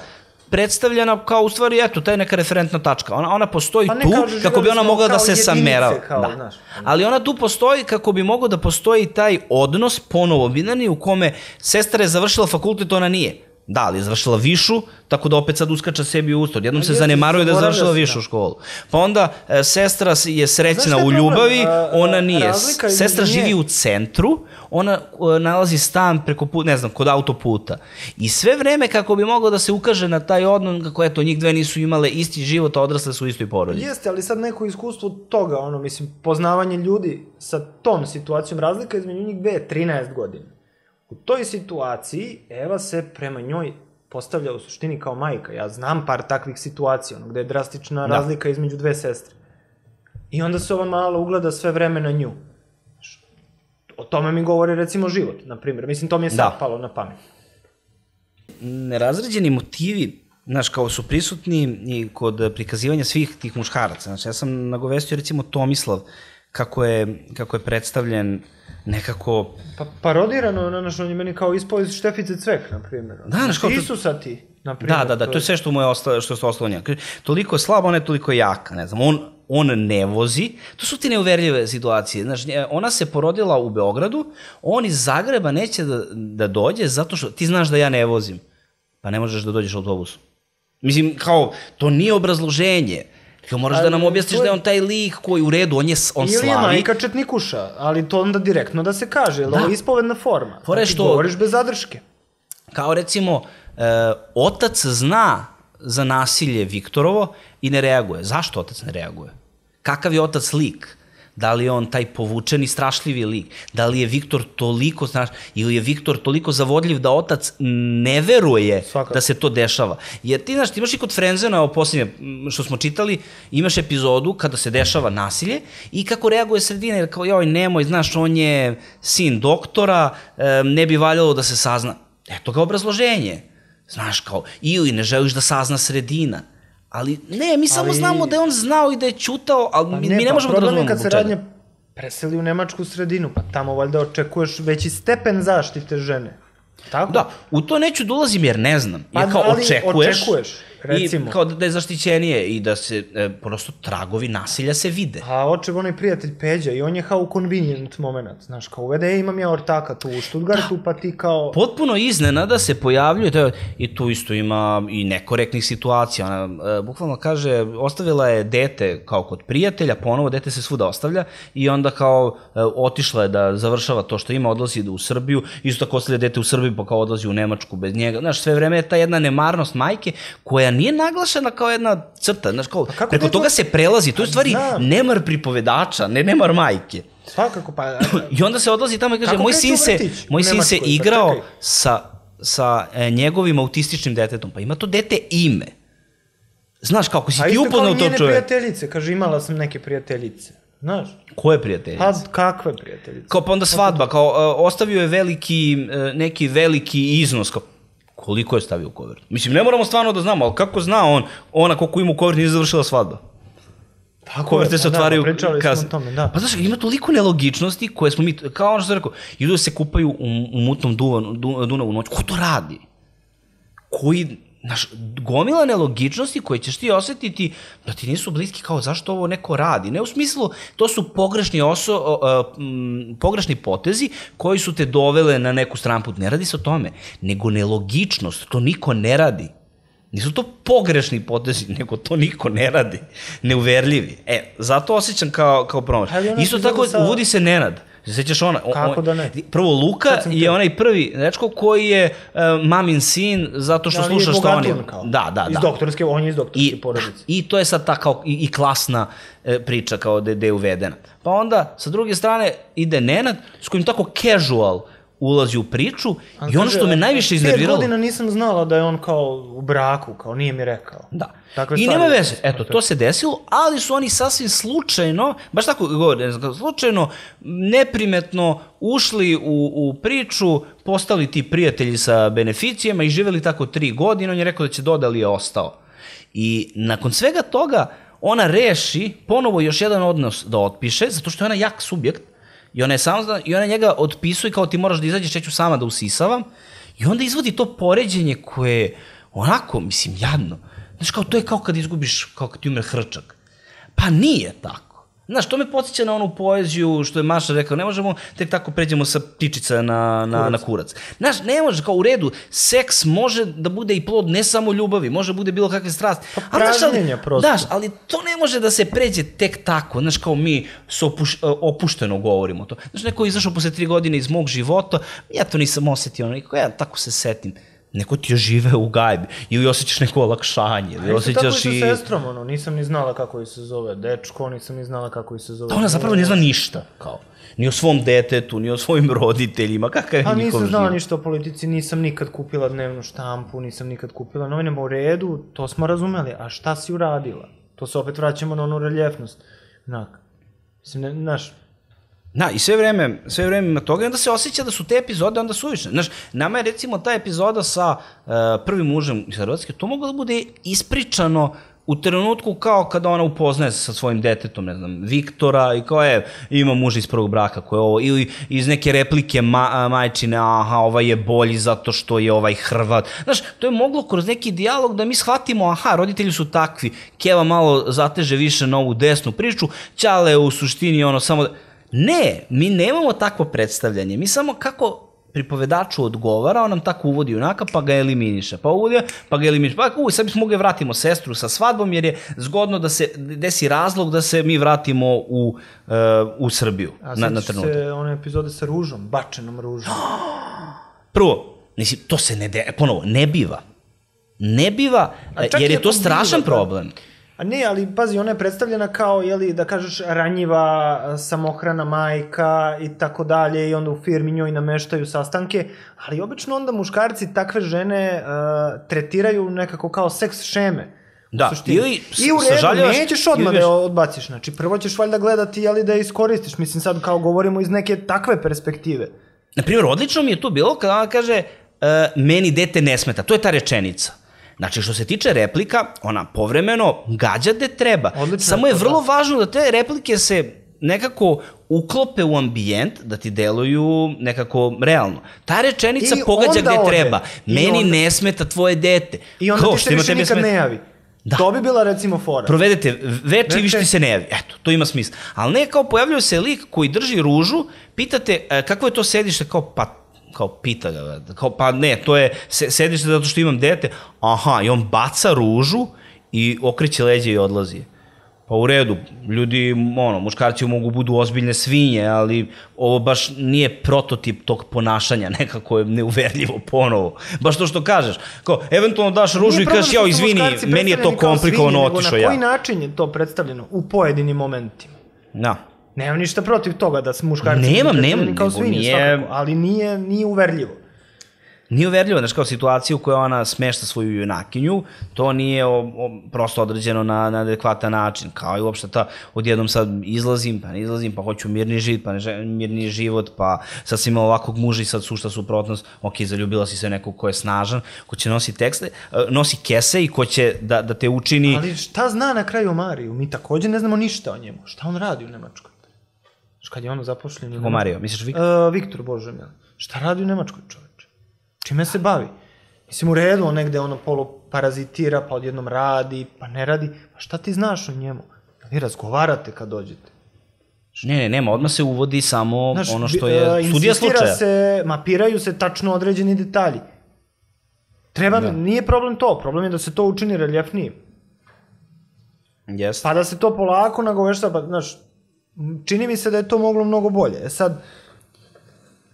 predstavljena kao u stvari, eto, ta je neka referentna tačka. Ona, ona postoji Pa ne, tu kao živeli kako bi ona smo mogla da kao se jedinice, samerava. kao, Da. znaš. Ali ona tu postoji kako bi mogao da postoji taj odnos ponovo binarni u kome sestra je završila fakultet, ona nije. Da, ali je završila višu, tako da opet sad uskača sebi u usto. Odjednom se jeste, zanemaruje da je zaboravlja završila se, višu da. školu. Pa onda e, sestra je srećna Znaš šta je u problem? ljubavi, A, ona a, nije. razlika između Sestra nje- živi u centru, ona e, nalazi stan preko puta, ne znam, kod autoputa. I sve vreme kako bi moglo da se ukaže na taj odnos, kako eto, njih dve nisu imale isti život, a odrasle su u istoj porodici. Jeste, ali sad neko iskustvo toga, ono, mislim, poznavanje ljudi sa tom situacijom, razlika između njih dve je trinaest godina. U toj situaciji Eva se prema njoj postavlja u suštini kao majka. Ja znam par takvih situacija, ono, gde je drastična Da. razlika između dve sestre. I onda se ova mala ugleda sve vreme na nju. O tome mi govori, recimo, život, na primjer. Mislim, to mi je sad Da. palo na pamet. Nerazređeni motivi, znaš, kao su prisutni i kod prikazivanja svih tih muškaraca. Znači, ja sam nagovestio, recimo, Tomislav, kako je, kako je predstavljen nekako... Pa parodirano, na naš, on je meni kao ispao iz Štefice Cvek, na primjer. Da, znaš, kao to- Isusa ti, na primjer. Da, da, da, to je sve što mu je ostalo, što je ostalo njega. Kaže, toliko je slaba, ona je toliko jaka, ne znam, on, on ne vozi, to su ti neuverljive situacije, znaš, nje- ona se porodila u Beogradu, on iz Zagreba neće da, da dođe zato što ti znaš da ja ne vozim, pa ne možeš da dođeš autobusom. Mislim, kao, to nije obrazloženje, kao moraš da Ali nam objasniš to je- da je on taj lik koji u redu, on, je, on Ili je slavi. majka četnikuša, ali to onda direktno da se kaže, jer Da. ovo je ispovedna forma. Fora je Znači, što- govoriš bez zadrške. Kao recimo, e, otac zna za nasilje Viktorovo i ne reaguje. Zašto otac ne reaguje? Kakav je otac lik? Da li je on taj povučeni, strašljivi lik? Da li je Viktor toliko straš... ili je Viktor toliko zavodljiv da otac ne veruje Svakako. da se to dešava? Jer ti, znaš, ti imaš i kod Frenzena, ovo posljednje m, što smo čitali, imaš epizodu kada se dešava nasilje i kako reaguje sredina, jer kao, joj, nemoj, znaš, on je sin doktora, e, ne bi valjalo da se sazna. Eto ga obrazloženje. Znaš, kao, ili ne želiš da sazna sredina. Ali ne, mi samo Ali- znamo da je on znao i da je ćutao, ali Pa mi, ne, mi ne pa možemo da problem je razumemo kad se zbog čega. radnja preseli u nemačku sredinu, pa tamo valjda očekuješ veći stepen zaštite žene. Tako? Da, u to neću da ulazim jer ne znam. Pa, Jer kao ali očekuješ, očekuješ, recimo. i kao da je zaštićenije i da se e, prosto tragovi nasilja se vide. A očev onaj prijatelj Peđa i on je kao convenient moment, znaš, kao uvede, e, imam ja ortaka tu u Stuttgartu, pa ti kao... Potpuno iznenada se pojavljuje, to je, i tu isto ima i nekorektnih situacija. Ona e, bukvalno kaže, ostavila je dete kao kod prijatelja, ponovo dete se svuda ostavlja i onda kao e, otišla je da završava to što ima, odlazi u Srbiju, isto tako ostavlja dete u Srbiji pa kao odlazi u Nemačku bez njega. Znaš, sve vreme je ta jedna nemarnost majke koja nije naglašena kao jedna crta, znaš, kao, kako preko dete- toga se prelazi, to je u stvari znam. nemar pripovedača, ne nemar majke. Svakako, pa... I onda se odlazi tamo i kaže, Kako moj kreće sin u se, vrtić moj u sin se Nemačkoj? Pa igrao čekaj. sa, sa e, njegovim autističnim detetom, pa ima to dete ime. Znaš, kako si A ti isto kao upoznao i to njene čovjek? prijateljice, kaže, imala sam neke prijateljice. Znaš, Koje prijateljice? pa kakve prijateljice? Kao pa onda svadba, kao e, ostavio je veliki, e, neki veliki iznos, kao koliko je stavio u kovertu? Mislim, ne moramo stvarno da znamo, ali kako zna on, ona koliko ima u kovertu nije završila svadba? Tako Koverte je, se pa da, otvaraju pa pričali smo kasno. o tome, da. Pa znaš, ima toliko nelogičnosti koje smo mi, kao ono što sam rekao, idu da se kupaju u, u mutnom Duvanu, Du- Dunavu noć. Ko to radi? Koji, znaš, gomila nelogičnosti koje ćeš ti osetiti da ti nisu bliski, kao zašto ovo neko radi. Ne u smislu, to su pogrešni, oso, o, o, m, pogrešni potezi koji su te dovele na neku stranu put. Ne radi se o tome, nego nelogičnost, to niko ne radi. Nisu to pogrešni potezi, nego to niko ne radi. Neuverljivi. E, zato osjećam kao, kao promaš. Ali ona Isto epizoda tako, sa- uvodi se Nenad. Se sećaš ona? O- Kako on- da ne? Prvo, Luka Sad sam je te- onaj prvi dečko koji je uh, mamin sin zato što Ali je sluša što oni... bogatun kao. Da, da, Iz da. doktorske, on je iz doktorske I, porodice. I to je sad ta kao i, i klasna e, priča kao da, da je uvedena. Pa onda, sa druge strane, ide Nenad s kojim tako casual ulazi u priču i ono što me najviše iznerviralo... Pet godina nisam znala da je on kao u braku, kao nije mi rekao. Da. Takve I stvari. nema veze, eto, to se desilo, ali su oni sasvim slučajno, baš tako govore, ne znam, slučajno, neprimetno ušli u, u priču, postali ti prijatelji sa beneficijama i živeli tako tri godine, on je rekao da će doda, ali je ostao. I nakon svega toga, ona reši ponovo još jedan odnos da otpiše, zato što je ona jak subjekt, i ona, je sam, i ona njega otpisuje kao ti moraš da izađeš, ja ću sama da usisavam, i onda izvodi to poređenje koje onako, mislim, jadno. Znaš, kao, to je kao kad izgubiš, kao kad ti umre hrčak. Pa nije tako. Znaš, to me podsjeća na onu poeziju što je Maša rekao, ne možemo tek tako pređemo sa ptičica na, na, kurac. na kurac. Znaš, ne može, kao u redu, seks može da bude i plod ne samo ljubavi, može da bude bilo kakve strasti. Pa pražnjenja prosto. Znaš, ali to ne može da se pređe tek tako, znaš, kao mi s opuš, opušteno govorimo to. Znaš, neko je izašao posle tri godine iz mog života, ja to nisam osetio, neko, ja tako se setim. Neko ti je žive u gajbi ili osjećaš neko olakšanje ili osjećaš i... Tako i sa sestrom, ono, nisam ni znala kako je se zove dečko, nisam ni znala kako je se zove... Da ona zapravo ne zna ništa, kao, ni o svom detetu, ni o svojim roditeljima, kakav je njihov život. A nisam znala ništa o politici, nisam nikad kupila dnevnu štampu, nisam nikad kupila novinama u redu, to smo razumeli, a šta si uradila? To se opet vraćamo na onu reljefnost. Onak, mislim, ne, znaš... Da, i sve vreme, sve vreme ima toga i onda se osjeća da su te epizode onda suvišne. Znaš, nama je recimo ta epizoda sa uh, prvim mužem iz Hrvatske, to moglo da bude ispričano u trenutku kao kada ona upoznaje se sa svojim detetom, ne znam, Viktora i kao je, ima muža iz prvog braka koje je ovo, ili iz neke replike ma, majčine, aha, ovaj je bolji zato što je ovaj Hrvat. Znaš, to je moglo kroz neki dijalog da mi shvatimo, aha, roditelji su takvi, Keva malo zateže više na ovu desnu priču, Ćale u suštini ono samo... Ne, mi nemamo takvo predstavljanje, mi samo kako pripovedaču odgovara, on nam tako uvodi junaka, pa ga eliminiše, pa uvodi, pa ga eliminiše, pa uj, sad bismo mogli vratimo sestru sa svadbom, jer je zgodno da se desi razlog da se mi vratimo u, uh, u Srbiju. A na, na trenutak. Se one epizode sa ružom, bačenom ružom. Prvo, mislim, to se ne, de, ponovo, ne biva. Ne biva, jer je to strašan problem. A ne, ali pazi, ona je predstavljena kao, jeli, da kažeš, ranjiva, samohrana majka i tako dalje i onda u firmi njoj nameštaju sastanke, ali obično onda muškarci takve žene uh, tretiraju nekako kao seks šeme. Da, ili i u redu, nećeš odmah da je odbaciš, znači prvo ćeš valjda gledati, jeli, da je iskoristiš, mislim sad kao govorimo iz neke takve perspektive. Naprimjer, odlično mi je to bilo kada ona kaže uh, meni dete ne smeta, to je ta rečenica. Znači, što se tiče replika, ona povremeno gađa gde treba. Odlično, samo je vrlo da. važno da te replike se nekako uklope u ambijent, da ti deluju nekako realno. Ta rečenica I pogađa gde ode. treba. I Meni onda... ne smeta tvoje dete. I onda Ko, ti se više nikad smeta? ne javi. Da. To bi bila recimo fora. Provedete veče i više ti se ne javi. Eto, to ima smisla. Ali ne kao pojavljuje se lik koji drži ružu, pitate e, kako je to sedište, kao pa kao pita ga, kao, pa ne, to je sedište zato što imam dete, aha, i on baca ružu i okreće leđe i odlazi. Pa u redu, ljudi, ono, muškarci mogu budu ozbiljne svinje, ali ovo baš nije prototip tog ponašanja, nekako je neuverljivo ponovo. Baš to što kažeš, kao, eventualno daš ružu i kažeš, jao, izvini, meni je to komplikovano, otišao ja. Na koji način je to predstavljeno u pojedinim momentima? Da. Nemam ništa protiv toga da se muškarci nemam, nemam, kao svinje, nije... svakako, ali nije, nije uverljivo. Nije uverljivo, znaš, kao situaciju u kojoj ona smešta svoju junakinju, to nije o, o, prosto određeno na, na adekvatan način, kao i uopšte ta, odjednom sad izlazim, pa ne izlazim, pa hoću mirni život, pa ne želim mirni život, pa sad sam imao ovakvog muža i sad sušta suprotnost, ok, zaljubila si se nekog ko je snažan, ko će nosi tekste, nosi kese i ko će da, da te učini... Ali šta zna na kraju o Mariju? Mi također ne znamo ništa o njemu. Šta on radi u Nemačkoj? Kad je ono zapošljen... Kako Mario, misliš Viktor? Uh, Viktor, bože mili. Šta radi u Nemačkoj, čoveče? Čime se bavi? Mislim, u redu, on negde ono poluparazitira, pa odjednom radi, pa ne radi. Pa šta ti znaš o njemu? Vi razgovarate kad dođete. Ne, ne, nema, odmah se uvodi samo Znaš, ono što je studija slučaja. Se, mapiraju se tačno određeni detalji. Treba, da. Nije problem to, problem je da se to učini reljefnijim. Yes. Pa da se to polako nagovešta, pa, znaš, čini mi se da je to moglo mnogo bolje. E sad,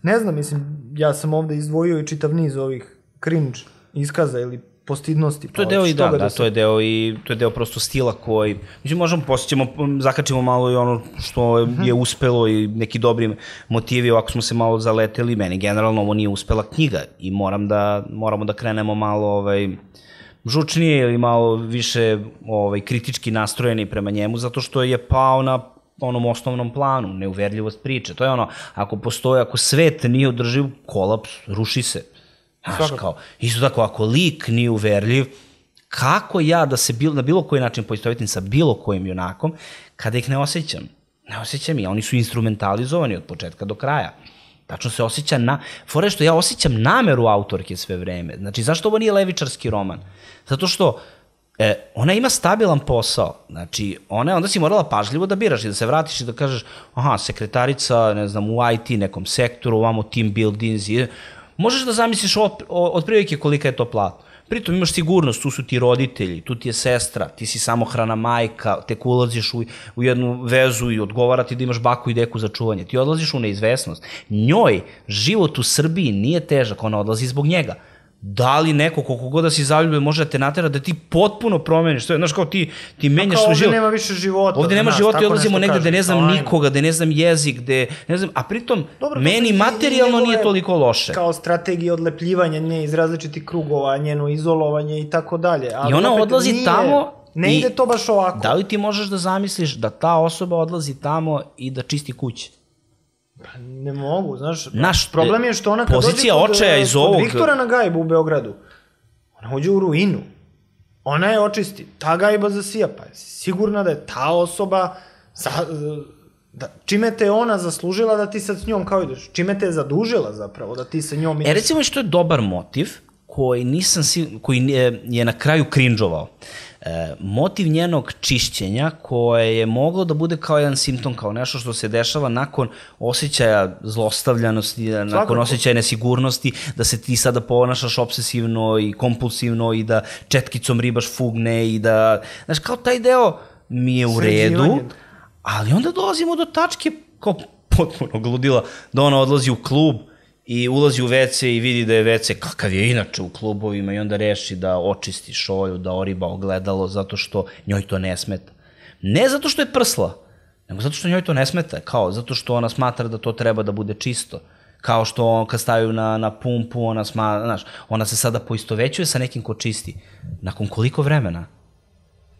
ne znam, mislim, ja sam ovde izdvojio i čitav niz ovih cringe iskaza ili postidnosti. To je deo i da, da, to je deo i to je deo prosto stila koji, mislim, možemo posjećemo, zakačimo malo i ono što je uspelo i neki dobri motivi, ovako smo se malo zaleteli, meni generalno ovo nije uspela knjiga i moram da, moramo da krenemo malo, ovaj, žučnije ili malo više ovaj, kritički nastrojeni prema njemu, zato što je pao na onom osnovnom planu, neuverljivost priče. To je ono, ako postoje, ako svet nije održiv, kolaps, ruši se. Znaš, kao, isto tako, ako lik nije uverljiv, kako ja da se bil, na bilo koji način poistovetim sa bilo kojim junakom, kada ih ne osjećam? Ne osjećam ih, oni su instrumentalizovani od početka do kraja. Tačno se osjeća na... Fore što ja osjećam nameru autorke sve vreme. Znači, zašto ovo nije levičarski roman? Zato što e, ona ima stabilan posao. Znači, ona, onda si morala pažljivo da biraš i da se vratiš i da kažeš, aha, sekretarica, ne znam, u I T nekom sektoru, ovamo team buildings i... Možeš da zamisliš od, od prilike kolika je to plata. Pritom imaš sigurnost, tu su ti roditelji, tu ti je sestra, ti si samohrana majka, tek ulaziš u, u jednu vezu i odgovara ti da imaš baku i deku za čuvanje. Ti odlaziš u neizvesnost. Njoj život u Srbiji nije težak, ona odlazi zbog njega. Da li neko, koliko god da si zaljubljen, može da te natera da ti potpuno promeniš. Znaš, kao ti, ti menjaš svoj život. Ovde nema više života. Ovde nema života i odlazimo negde gde ne znam nikoga, gde ne znam jezik, gde ne znam, a pritom dobro, meni materijalno nije toliko loše. Kao strategija odlepljivanja nje iz različitih krugova, njeno izolovanje i tako dalje. I ona odlazi nije, tamo ne ide to baš ovako. Da li ti možeš da zamisliš da ta osoba odlazi tamo i da čisti kuće? Pa ne mogu, znaš, Naš, problem je što ona kad dođe kod, iz ovog... kod Viktora na gajbu u Beogradu, ona uđe u ruinu, ona je očisti, ta gajba zasija, pa je sigurna da je ta osoba, za, da, čime te ona zaslužila da ti sad s njom kao ideš, čime te je zadužila zapravo da ti sa njom ideš. E recimo što je dobar motiv, koji, nisam, koji je, je na kraju krinđovao. E, motiv njenog čišćenja koje je moglo da bude kao jedan simptom, kao nešto što se dešava nakon osjećaja zlostavljanosti, nakon Svakako. osjećaja nesigurnosti, da se ti sada ponašaš obsesivno i kompulsivno i da četkicom ribaš fugne i da, znaš, kao taj deo mi je u redu, ali onda dolazimo do tačke kao potpuno gludila, da ona odlazi u klub i ulazi u ve ce i vidi da je ve ce kakav je inače u klubovima i onda reši da očisti šolju, da oriba ogledalo zato što njoj to ne smeta. Ne zato što je prsla, nego zato što njoj to ne smeta, kao zato što ona smatra da to treba da bude čisto. Kao što on, kad stavaju na, na pumpu, ona, sma, znaš, ona se sada poistovećuje sa nekim ko čisti. Nakon koliko vremena?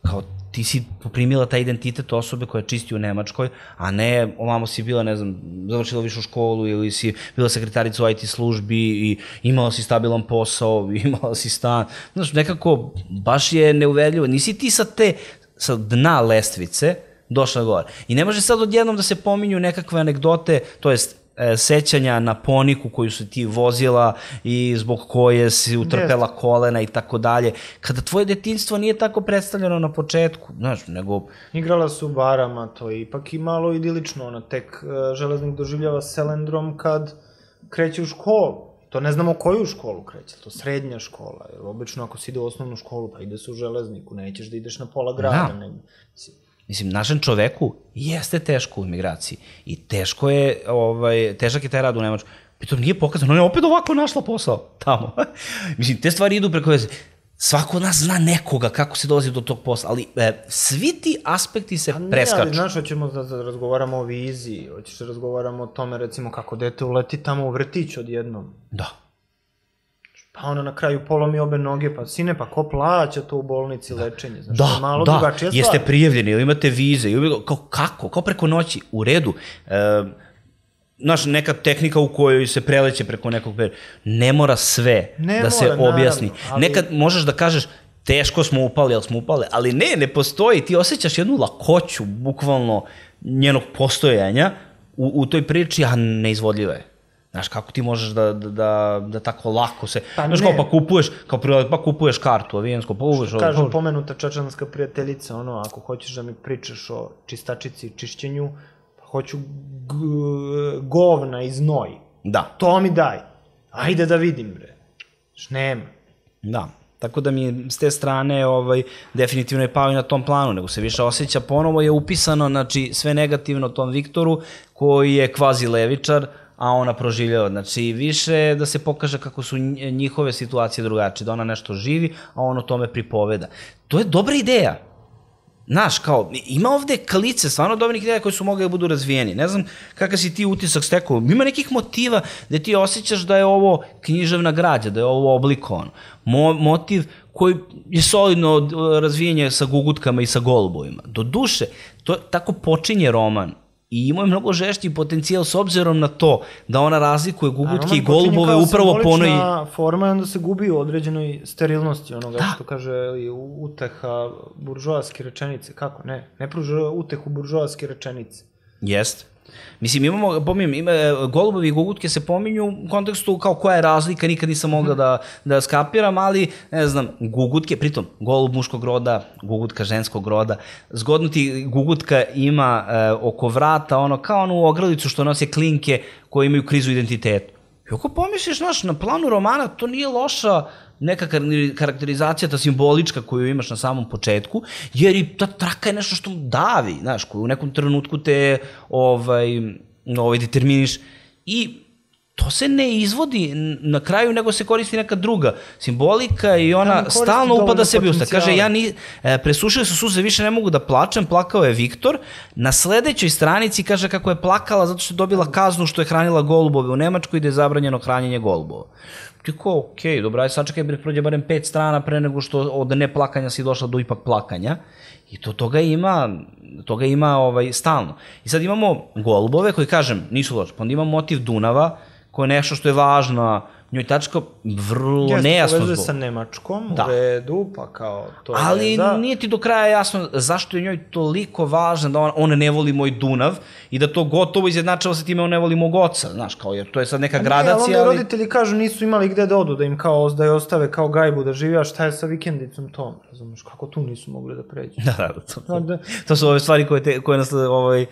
Kao ti si poprimila taj identitet osobe koja čisti u Nemačkoj, a ne ovamo si bila, ne znam, završila višu školu ili si bila sekretarica u I T službi i imala si stabilan posao, imala si stan. Znaš, nekako baš je neuverljivo. Nisi ti sa te, sa dna lestvice došla gore. I ne može sad odjednom da se pominju nekakve anegdote, to jest sećanja na poniku koju su ti vozila i zbog koje si utrpela kolena i tako dalje. Kada tvoje detinjstvo nije tako predstavljeno na početku, znaš, nego... Igrala su u barama, to je ipak i malo idilično, ona tek železnik doživljava selendrom kad kreće u školu. To ne znamo koju školu kreće, to srednja škola, jer obično ako si ide u osnovnu školu, pa ide se u železniku, nećeš da ideš na pola grada. Da. Mislim, našem čoveku jeste teško u imigraciji i teško je, ovaj, težak je taj rad u Nemačkoj. Pritom nije pokazano, ona je opet ovako našla posao tamo. Mislim, te stvari idu preko veze. Svako od nas zna nekoga kako se dolazi do tog posla, ali e, svi ti aspekti se ne, preskaču. Ali znaš, hoćemo da, da razgovaramo o viziji, hoćeš da razgovaramo o tome, recimo, kako dete uleti tamo u vrtić odjednom. Da. Pa ona na kraju polomi obe noge, pa sine, pa ko plaća to u bolnici lečenje? Znaš, da, malo da, drugačija stvar. Jeste prijavljeni, ili imate vize, ili, kao, kako, kao preko noći, u redu. E, znaš, neka tehnika u kojoj se preleće preko nekog perioda, ne mora sve ne da se mora, objasni. Naravno, ali... Nekad možeš da kažeš, teško smo upali, ali smo upali, ali ne, ne postoji, ti osjećaš jednu lakoću, bukvalno, njenog postojanja u, u toj priči, a neizvodljiva je. Znaš, kako ti možeš da, da, da tako lako se... Pa znaš, kao pa kupuješ, kao prilaz, pa kupuješ kartu avijensko, pa uveš... Što kažu pomenuta čačanska prijateljica, ono, ako hoćeš da mi pričaš o čistačici i čišćenju, pa hoću govna i znoj. Da. To mi daj. Ajde da vidim, bre. Znaš, nema. Da. Tako da mi je s te strane ovaj, definitivno je pao i na tom planu, nego se više osjeća, ponovo je upisano, znači, sve negativno tom Viktoru, koji je kvazi levičar, a ona proživljava. Znači, više da se pokaže kako su njihove situacije drugačije, da ona nešto živi, a on o tome pripoveda. To je dobra ideja. Znaš, kao, ima ovde kalice, stvarno dobrih ideja koje su mogli da budu razvijeni. Ne znam kakav si ti utisak stekao. Ima nekih motiva gde ti osjećaš da je ovo književna građa, da je ovo oblikovano. Mo, motiv koji je solidno razvijenje sa gugutkama i sa golubovima. Do duše, to tako počinje roman. I ima je mnogo žešći potencijal s obzirom na to da ona razlikuje gugutke i golubove upravo po onoj... Simbolična forma i onda se gubi u određenoj sterilnosti onoga što kaže uteha buržoaske rečenice. Kako? Ne, ne pruža utehu buržoaske rečenice. Jest. Mislim, imamo, pominjem, ima, golubovi i gugutke se pominju u kontekstu kao koja je razlika, nikad nisam mogla da, da skapiram, ali, ne znam, gugutke, pritom, golub muškog roda, gugutka ženskog roda, zgodno ti gugutka ima e, oko vrata, ono, kao onu ogrlicu što nose klinke koje imaju krizu identitetu. I ako pomisliš, znaš, na planu romana, to nije loša neka karakterizacija, ta simbolička koju imaš na samom početku, jer i ta traka je nešto što davi, znaš, koju u nekom trenutku te ovaj, ovaj, determiniš i to se ne izvodi na kraju, nego se koristi neka druga simbolika i ona ja, stalno upada sebi usta. Kaže, ja ni, e, presušili su suze, više ne mogu da plačem, plakao je Viktor. Na sledećoj stranici kaže kako je plakala zato što je dobila kaznu što je hranila golubove u Nemačkoj i da je zabranjeno hranjenje golubova. Tako, okej, dobro, aj sačekaj, prođe barem pet strana pre nego što od neplakanja si došla do ipak plakanja. I to toga ima, toga ima ovaj, stalno. I sad imamo golubove koji, kažem, nisu loši. Pa onda imamo motiv Dunava, koje je nešto što je važno, njoj tačka vrlo Jeste, nejasno povezuje zbog. sa Nemačkom, Da. u redu, pa kao to je Ali veza. nije ti do kraja jasno zašto je njoj toliko važno da on, on ne voli moj Dunav i da to gotovo izjednačava sa time on ne voli mog oca, znaš, kao jer to je sad neka A gradacija. Ne, ali onda ali... roditelji kažu nisu imali gde da odu, da im kao da je ostave kao gajbu da živi, a šta je sa vikendicom tom, razumiješ, kako tu nisu mogli da pređu. Da, da, da, to, to, Da. to su ove stvari koje, te, koje nas ovaj,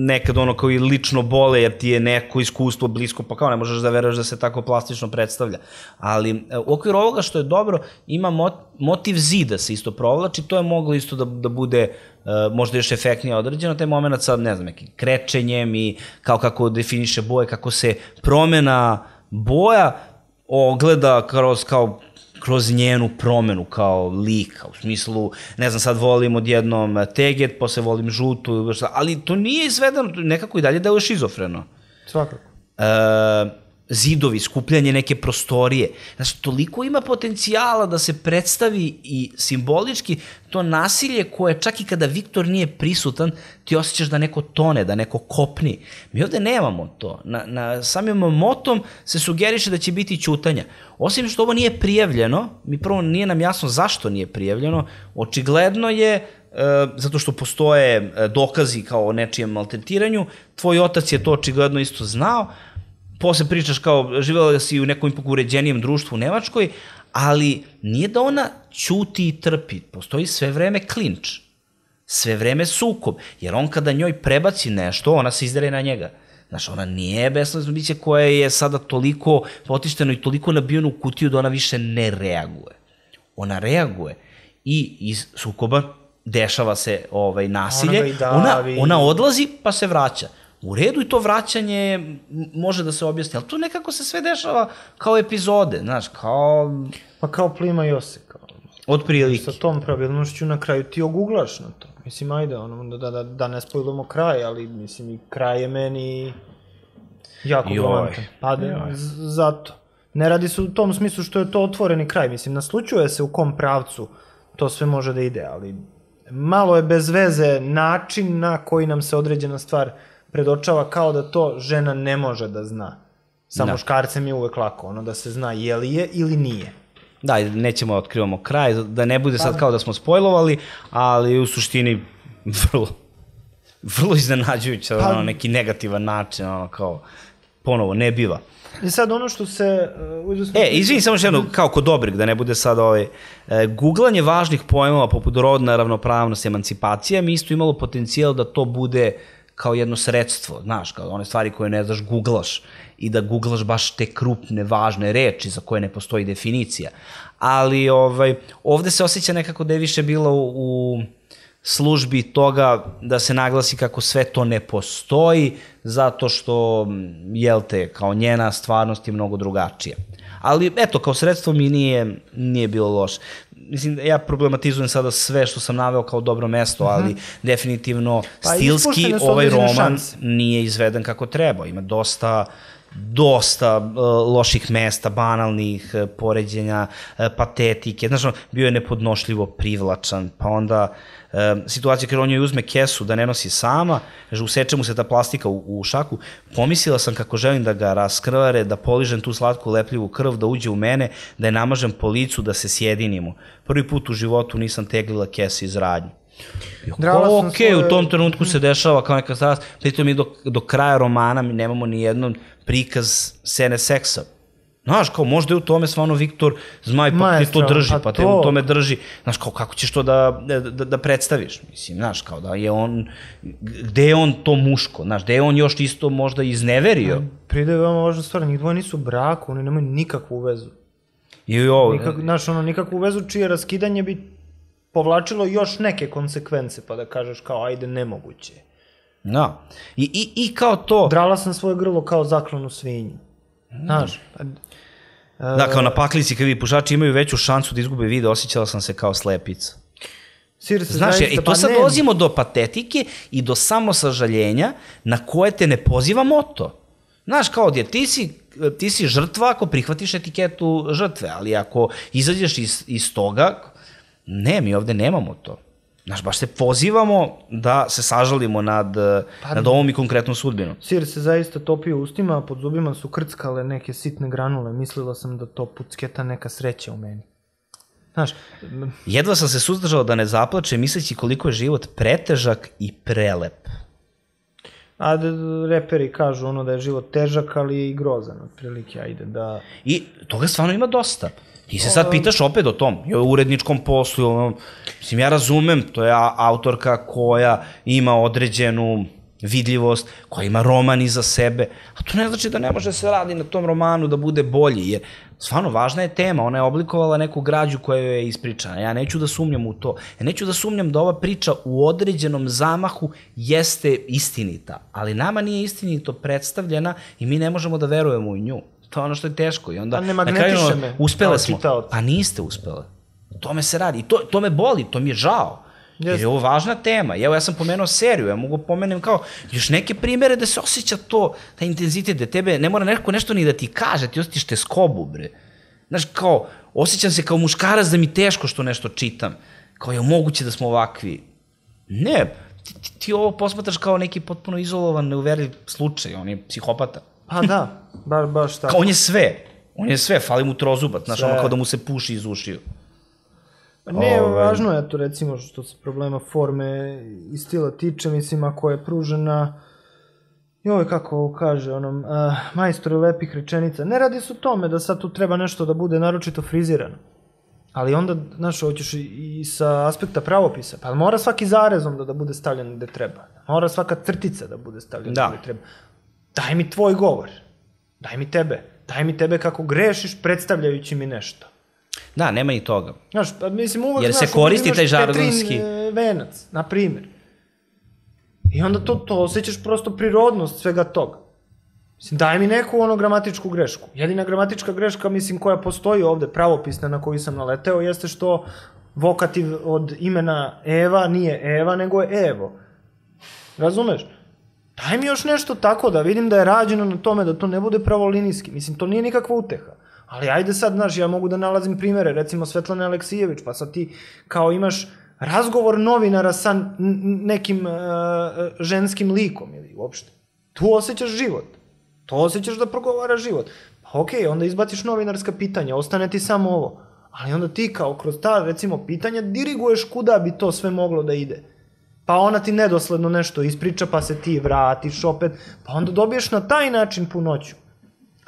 nekad ono kao i lično bole, jer ti je neko iskustvo blisko, pa kao ne možeš da veruješ da se tako plastično predstavlja. Ali u okviru ovoga što je dobro, ima mot, motiv zida se isto provlači, to je moglo isto da, da bude uh, možda još efektnije određeno, taj moment sa, ne znam, nekim krečenjem i kao kako definiše boje, kako se promena boja ogleda kroz, kao kroz njenu promenu kao lika, u smislu, ne znam, sad volim odjednom teget, posle volim žutu, ali to nije izvedeno, nekako i dalje da je šizofreno. Svakako. E, zidovi, skupljanje neke prostorije. Znači, toliko ima potencijala da se predstavi i simbolički to nasilje koje čak i kada Viktor nije prisutan, ti osjećaš da neko tone, da neko kopni. Mi ovde nemamo to. Na, na samim motom se sugeriše da će biti ćutanja. Osim što ovo nije prijavljeno, mi prvo nije nam jasno zašto nije prijavljeno, očigledno je e, zato što postoje dokazi kao o nečijem maltretiranju, tvoj otac je to očigledno isto znao, posle pričaš kao živjela si u nekom ipak uređenijem društvu u Nemačkoj, ali nije da ona ćuti i trpi, postoji sve vreme klinč, sve vreme sukob, jer on kada njoj prebaci nešto, ona se izdere na njega. Znaš, ona nije besledno biće koje je sada toliko potišteno i toliko nabijeno u kutiju da ona više ne reaguje. Ona reaguje i iz sukoba dešava se ovaj, nasilje, ona, ona odlazi pa se vraća. U redu i to vraćanje može da se objasni, ali to nekako se sve dešava kao epizode, znaš, kao... Pa kao plima i ose, kao... Od prilike. Sa tom pravilnošću na kraju ti oguglaš na to. Mislim, ajde, ono, da, da, da ne spojlamo kraj, ali mislim i kraj je meni jako galantan. Pa zato. Ne radi se u tom smislu što je to otvoreni kraj, mislim, naslučuje se u kom pravcu to sve može da ide, ali malo je bez veze način na koji nam se određena stvar predočava kao da to žena ne može da zna. Sa da. Muškarcem je uvek lako, ono da se zna je li je ili nije. Da, nećemo da otkrivamo kraj, da ne bude sad kao da smo spojlovali, ali u suštini vrlo, vrlo iznenađujuće, pa, ono, neki negativan način, ono, kao, ponovo, ne biva. I sad ono što se... Uh, e, izvini, samo što jedno, kao kod Dobrik, da ne bude sad ovaj... E, googlanje važnih pojmova poput rodna ravnopravnost i emancipacija mi isto imalo potencijal da to bude kao jedno sredstvo, znaš, kao one stvari koje ne znaš, googlaš i da googlaš baš te krupne, važne reči za koje ne postoji definicija. Ali ovaj, ovde se osjeća nekako da je više bilo u, u službi toga da se naglasi kako sve to ne postoji, zato što, jel te, kao njena stvarnost je mnogo drugačija. Ali, eto, kao sredstvo mi nije, nije bilo loše. Mislim, ja problematizujem sada sve što sam naveo kao dobro mesto, ali uh-huh. definitivno pa, stilski ovaj roman šanse. Nije izveden kako treba. Ima dosta, dosta uh, loših mesta, banalnih uh, poređenja, uh, patetike. Znaš, bio je nepodnošljivo privlačan, pa onda uh, situacija kada on joj uzme kesu da ne nosi sama, useče mu se ta plastika u, u šaku, pomislila sam kako želim da ga raskrvare, da poližem tu slatku lepljivu krv, da uđe u mene, da je namažem po licu, da se sjedinimo. Prvi put u životu nisam teglila kese iz radnje. Ok, svoje... u tom trenutku se dešava kao neka strast, pritom mi do, do kraja romana mi nemamo ni jedan prikaz scene seksa. Znaš, kao možda je u tome stvarno Viktor Zmaj, pa ti to drži, pa te u tome drži. Znaš, kao kako ćeš to da, da, da predstaviš? Mislim, znaš, kao da je on, gde je on to muško? Znaš, gde je on još isto možda izneverio? Pride je veoma važna stvar, njih dvoje nisu u braku, oni nemaju nikakvu vezu. I ovo... Nikak, znaš, ono, nikakvu vezu čije raskidanje bi povlačilo još neke konsekvence, pa da kažeš kao, ajde, nemoguće. Da. I, i, i kao to... Drala sam svoje grlo kao zaklanu svinju. Znaš, pa... Da, kao na paklici kad vi pušači imaju veću šansu da izgube video, osjećala sam se kao slepica. Znaš, i to sad dolazimo do patetike i do samosažaljenja na koje te ne poziva moto. Znaš, kao jer ti si, ti si žrtva ako prihvatiš etiketu žrtve, ali ako izađeš iz, iz toga, ne, mi ovde nemamo to. Znaš, baš se pozivamo da se sažalimo nad, pa, nad ovom i konkretnom sudbinom. Sir se zaista topio ustima, a pod zubima su krckale neke sitne granule. Mislila sam da to pucketa neka sreća u meni. Znaš... Jedva sam se suzdržao da ne zaplače, misleći koliko je život pretežak i prelep. A da, reperi kažu ono da je život težak, ali i grozan, otprilike, ajde da... I toga stvarno ima dosta. Ti se sad pitaš opet o tom, i o uredničkom poslu, ono, mislim, ja razumem, to je autorka koja ima određenu vidljivost, koja ima roman iza sebe, a to ne znači da ne može se radi na tom romanu da bude bolji, jer stvarno važna je tema, ona je oblikovala neku građu koja je ispričana, ja neću da sumnjam u to, ja neću da sumnjam da ova priča u određenom zamahu jeste istinita, ali nama nije istinito predstavljena i mi ne možemo da verujemo u nju. To je ono što je teško i onda na kraju uspele smo, pa niste uspele. To me se radi i to, to me boli, to mi je žao. Jer je ovo važna tema. Evo, ja sam pomenuo seriju, ja mogu pomenem kao još neke primere da se osjeća to, ta intenzitet, da tebe ne mora neko nešto ni da ti kaže, ti osjetiš teskobu, bre. Znaš, kao, osjećam se kao muškarac da mi teško što nešto čitam. Kao je moguće da smo ovakvi. Ne, ti, ti, ti ovo posmatraš kao neki potpuno izolovan, neuverljiv slučaj, on je psihopata. Pa da, baš, baš tako. Kao on je sve, on je sve, fali mu trozubat, znaš, ono kao da mu se puši iz ušiju. Ne, važno je to recimo što se problema forme i stila tiče, mislim, ako je pružena, joj, kako kaže, onom, uh, majstori lepih rečenica, ne radi se o tome da sad tu treba nešto da bude naročito frizirano, ali onda, znaš, hoćeš i, i sa aspekta pravopisa, pa mora svaki zarezom da, da bude stavljen gde treba, mora svaka crtica da bude stavljena da. Gde treba. Daj mi tvoj govor, daj mi tebe, daj mi tebe kako grešiš predstavljajući mi nešto. Da, nema i toga. Znaš, pa mislim uvek, jer se znaš, koristi taj žargonski... Petrin e, venac, na primjer. I onda to, to osjećaš prosto prirodnost svega toga. Mislim, daj mi neku ono gramatičku grešku. Jedina gramatička greška, mislim, koja postoji ovde, pravopisna na koju sam naleteo, jeste što vokativ od imena Eva nije Eva, nego je Evo. Razumeš? Daj mi još nešto tako da vidim da je rađeno na tome, da to ne bude pravolinijski. Mislim, to nije nikakva uteha. Ali ajde sad, znaš, ja mogu da nalazim primere, recimo Svetlana Aleksijević, pa sad ti kao imaš razgovor novinara sa nekim uh, ženskim likom ili uopšte. Tu osjećaš život. To osjećaš da progovara život. Pa okej, okay, onda izbaciš novinarska pitanja, ostane ti samo ovo. Ali onda ti kao kroz ta, recimo, pitanja diriguješ kuda bi to sve moglo da ide. Pa ona ti nedosledno nešto ispriča, pa se ti vratiš opet, pa onda dobiješ na taj način punoću.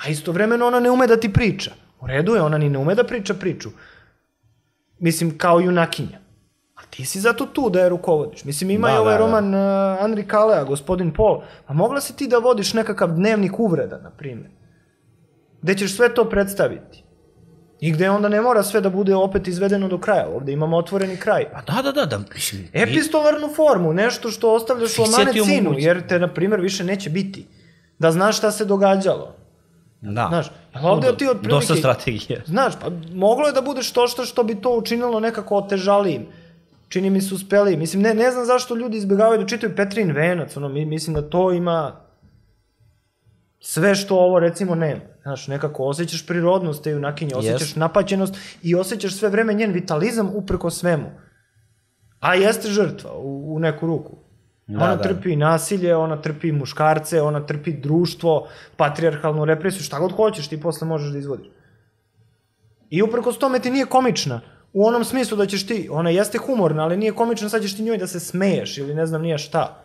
A istovremeno ona ne ume da ti priča. U redu je, ona ni ne ume da priča priču. Mislim, kao junakinja. A ti si zato tu da je rukovodiš. Mislim, ima da, i ovaj da, roman uh, Andri Kalea, Gospodin Pol. Pa mogla si ti da vodiš nekakav dnevnik uvreda, na primjer. Gde ćeš sve to predstaviti. I gde onda ne mora sve da bude opet izvedeno do kraja. Ovde imamo otvoreni kraj. Pa da, da, da. da. Mislim, epistolarnu formu, nešto što ostavljaš u amanecinu, jer te, na primjer, više neće biti. Da znaš šta se događalo. Da. Znaš, ovde ti otprilike... Dosta strategije. Znaš, pa moglo je da bude što što što bi to učinilo nekako otežalijim. Čini mi se uspeli. Mislim, ne, ne znam zašto ljudi izbjegavaju da čitaju Petrin venac, ono, mislim da to ima sve što ovo recimo nema. Znaš, nekako osjećaš prirodnost te junakinje, osjećaš yes. napaćenost i osjećaš sve vreme njen vitalizam upreko svemu. A jeste žrtva u, u neku ruku. Da, ona da. trpi nasilje, ona trpi muškarce, ona trpi društvo, patrijarhalnu represiju, šta god hoćeš ti posle možeš da izvodiš. I uprkos tome ti nije komična. u onom smislu da ćeš ti, ona jeste humorna, ali nije komična, sad ćeš ti njoj da se smeješ ili ne znam nije šta.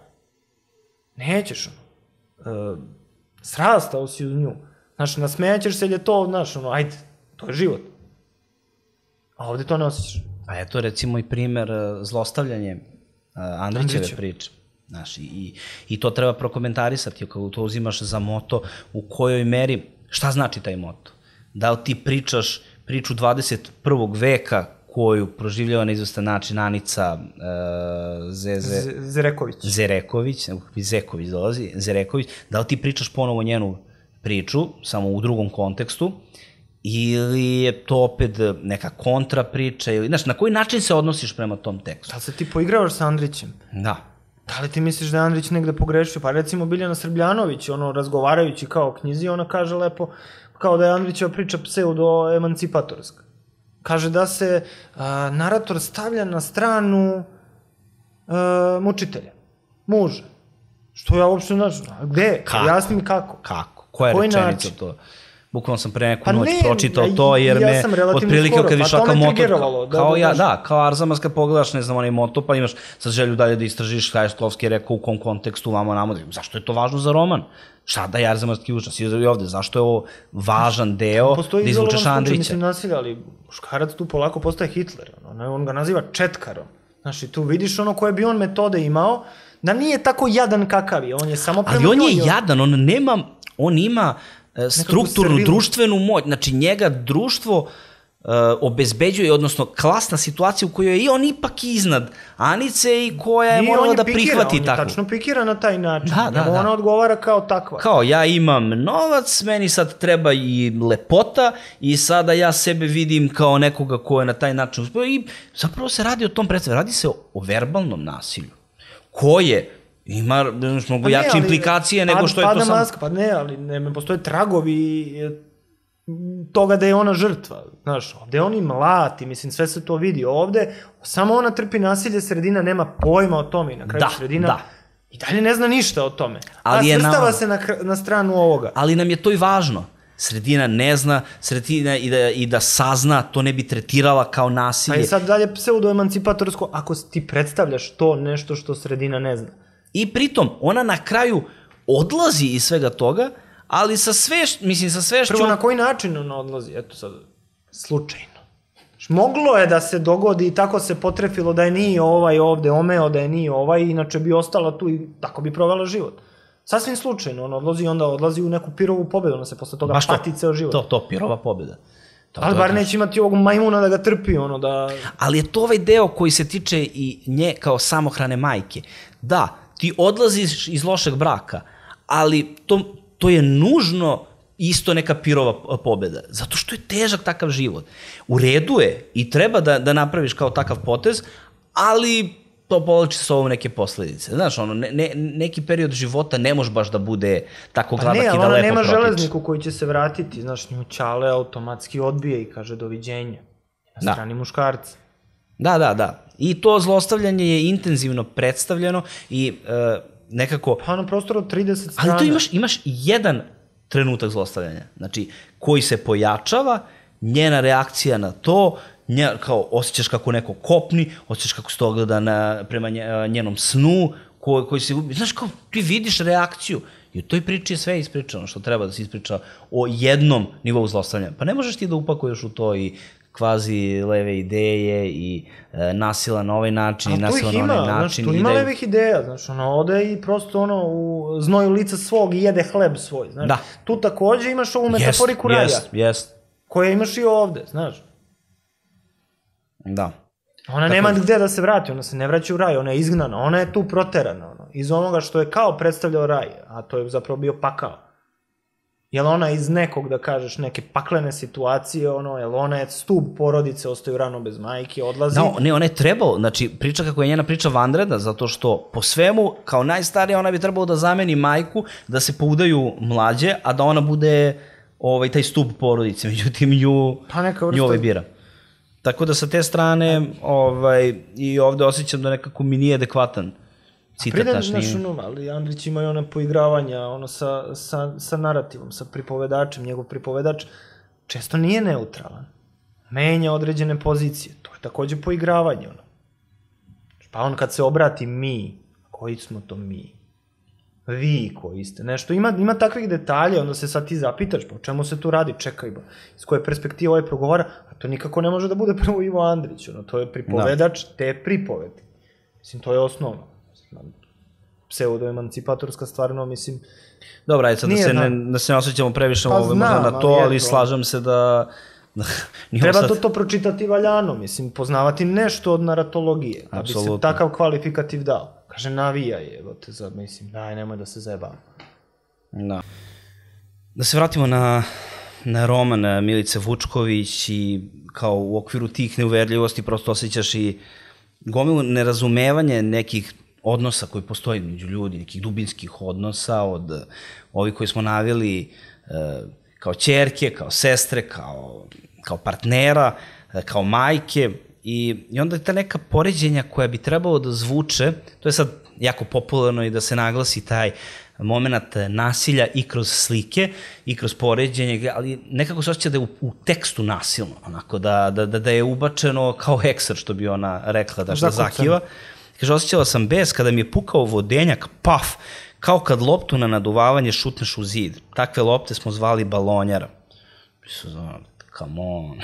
Nećeš, ono. E, srastao si uz nju. Znaš, nasmejaćeš se jer je to, znaš, ono, ajde, to je život. A ovde to ne osjećaš. Pa eto, recimo i primer zlostavljanje Andrićeve priče. Znaš, i, i to treba prokomentarisati, kako to uzimaš za moto, u kojoj meri, šta znači taj moto? Da li ti pričaš priču dvadeset prvog veka koju proživljava na izvestan način Anica uh, Zeze... Zereković. Zereković, Zeković dolazi, Zereković, da li ti pričaš ponovo njenu priču, samo u drugom kontekstu, ili je to opet neka kontra priča, ili, znaš, na koji način se odnosiš prema tom tekstu? Da li se ti poigravaš sa Andrićem? Da. Da li ti misliš da je Andrić negde pogrešio? Pa recimo Biljana Srbljanović, ono, razgovarajući kao knjizi, ona kaže lepo, kao da je Andrićeva priča pseudo-emancipatorska. Kaže da se a, narator stavlja na stranu a, mučitelja, muža. Što ja uopšte, znaš, gde? Kako? Jasni mi kako. Kako? Koja je rečenica to? Bukvalno sam pre neku Pa noć ne, pročitao ja- to, jer ja me sam relativno otprilike skoro, kad pa viš to ovakav me motor, triggerovalo, da, kao da, ja, baš. da, kao Arzamas kad pogledaš, ne znam, onaj moto, pa imaš sad želju dalje da istražiš šta je Šklovski rekao, u kom kontekstu, vamo namo, zašto je to važno za roman? Šta da je Arzamanski učas i ovde, zašto je ovo važan deo Postoji da izolovan izvučeš slučaj, Andrića? mislim, nasilja, ali muškarac tu polako postaje Hitler. Ono, on ga naziva četkarom. Znaš, i tu vidiš ono koje bi on metode imao, da nije tako jadan kakav je, on je samo prema Ali on je njoj, jadan, on nema, on ima e, strukturnu, servilu. društvenu moć, znači njega društvo e, obezbeđuje, odnosno klasna situacija u kojoj je i on ipak iznad Anice i koja je I morala on je da pikira, prihvati on je tako. tačno pikira na taj način. Da, da, Njemu da. ona odgovara kao takva. Kao, ja imam novac, meni sad treba i lepota i sada ja sebe vidim kao nekoga ko je na taj način uspeo i zapravo se radi o tom predstavu, radi se o, o verbalnom nasilju, koje ima znaš, mnogo Pa ne, jače ali implikacije nego pad- što je to pada samo... maska, pa ne, ali ne, postoje tragovi e, toga da je ona žrtva. Znaš, ovde oni mlati, mislim, sve se to vidi. Ovde samo ona trpi nasilje, sredina nema pojma o tome i na kraju Da, sredina da. i dalje ne zna ništa o tome. Ali A je svrstava nama- se na, kr- na stranu ovoga. Ali nam je to i važno. Sredina ne zna, sredina i da, i da sazna, to ne bi tretirala kao Pa nasilje. i sad dalje pseudo-emancipatorsko, ako ti predstavljaš to nešto što sredina ne zna. I pritom, ona na kraju odlazi iz svega toga, ali sa sve, mislim, sa svešću... Prvo, na koji način ona odlazi? Eto sad, slučajno. Znaš, moglo je da se dogodi i tako se potrefilo da je nije ovaj ovde omeo, da je nije ovaj, inače bi ostala tu i tako bi provela život. Sasvim slučajno, ona odlazi i onda odlazi u neku pirovu pobedu, ona se posle toga Baš to, pati ceo život. To, to, pirova pobjeda. To, Ali to, bar to. neće imati ovog majmuna da ga trpi, ono da... Ali je to ovaj deo koji se tiče i nje kao samohrane majke. Da, ti odlaziš iz lošeg braka, ali to, to je nužno isto neka pirova pobjeda. Zato što je težak takav život. U redu je i treba da, da napraviš kao takav potez, ali to povlači sa ovom neke posledice. Znaš, ono, ne, ne, neki period života ne može baš da bude tako Pa gladak ne, i ali da ona lepo nema protiče. železniku koji će se vratiti, znaš, nju Ćale automatski odbije i kaže doviđenja. Na Da. strani muškarca. Da, da, da. I to zlostavljanje je intenzivno predstavljeno i e, nekako... Pa na prostoru od trideset strana. Ali tu imaš, imaš jedan trenutak zlostavljanja, znači, koji se pojačava, njena reakcija na to, nje, kao osjećaš kako neko kopni, osjećaš kako se to gleda na, prema nje- njenom snu, ko, koji se... Znaš, kao ti vidiš reakciju i u toj priči je sve ispričano što treba da se ispriča o jednom nivou zlostavljanja. Pa ne možeš ti da upakuješ u to i kvazi leve ideje i e, nasila na ovaj način i Ali tu nasila ih na ima, onaj znaš, način. tu i ima da je- levih ideja, znaš, ono, ode i prosto, ono, u znoju lica svog i jede hleb svoj, znaš. Da. Tu takođe imaš ovu metaforiku raja, Jest, jest, koja imaš i ovde, znaš. da. Ona nema gde da se vrati, ona se ne vraća u raj, ona je izgnana, ona je tu proterana, ono, iz onoga što je kao predstavljao raj, a to je zapravo bio pakao. Jel ona iz nekog, da kažeš, neke paklene situacije, ono, jel ona je stub porodice, ostaju rano bez majke, odlazi. Da, ne, ona je trebao, znači priča kako je njena priča vanredna, zato što po svemu, kao najstarija, ona bi trebalo da zameni majku, da se poudaju mlađe, a da ona bude ovaj, taj stub porodice, međutim nju, Pa neka vrsta- nju ovaj bira. Tako da sa te strane, ovaj, i ovde osjećam da nekako mi nije adekvatan citat Pride, naš. znaš, nije- ono, ali Andrić ima i one poigravanja, ono, sa, sa, sa narativom, sa pripovedačem, njegov pripovedač često nije neutralan. menja određene pozicije. To je takođe poigravanje, ono. Pa on kad se obrati mi, koji smo to mi? Vi koji ste, nešto, ima, ima takvih detalja, onda se sad ti zapitaš, pa o čemu se tu radi, čekaj, ba, iz koje perspektive ovaj progovara, a to nikako ne može da bude prvo Ivo Andrić, ono, to je pripovedač te pripovedi. Mislim, to je osnovno. Pseudo-emancipatorska stvarno, mislim... Dobro, ajde sad da se ne, da se ne osjećamo previše pa ovo možda na to, ali, ali slažem se da... Treba sad... to, to pročitati valjano, mislim, poznavati nešto od naratologije, da bi se takav kvalifikativ dao. Kaže, navija je, evo te za, mislim, daj, nemoj da se zajebamo. Da. Da se vratimo na, na roman Milice Vučković i kao u okviru tih neuverljivosti prosto osjećaš i gomilu nerazumevanje nekih odnosa koji postoji među ljudi, nekih dubinskih odnosa od ovih koji smo navili kao ćerke, kao sestre, kao, kao partnera, kao majke. I, I onda je ta neka poređenja koja bi trebalo da zvuče, to je sad jako popularno i da se naglasi taj moment nasilja i kroz slike i kroz poređenje, ali nekako se osjeća da je u, u tekstu nasilno, onako, da, da, da je ubačeno kao hekser, što bi ona rekla, da što zakiva. Kaže, osjećala sam bes kada mi je pukao vodenjak, paf, kao kad loptu na naduvavanje šutneš u zid. Takve lopte smo zvali balonjara. Mislim, znam, come on,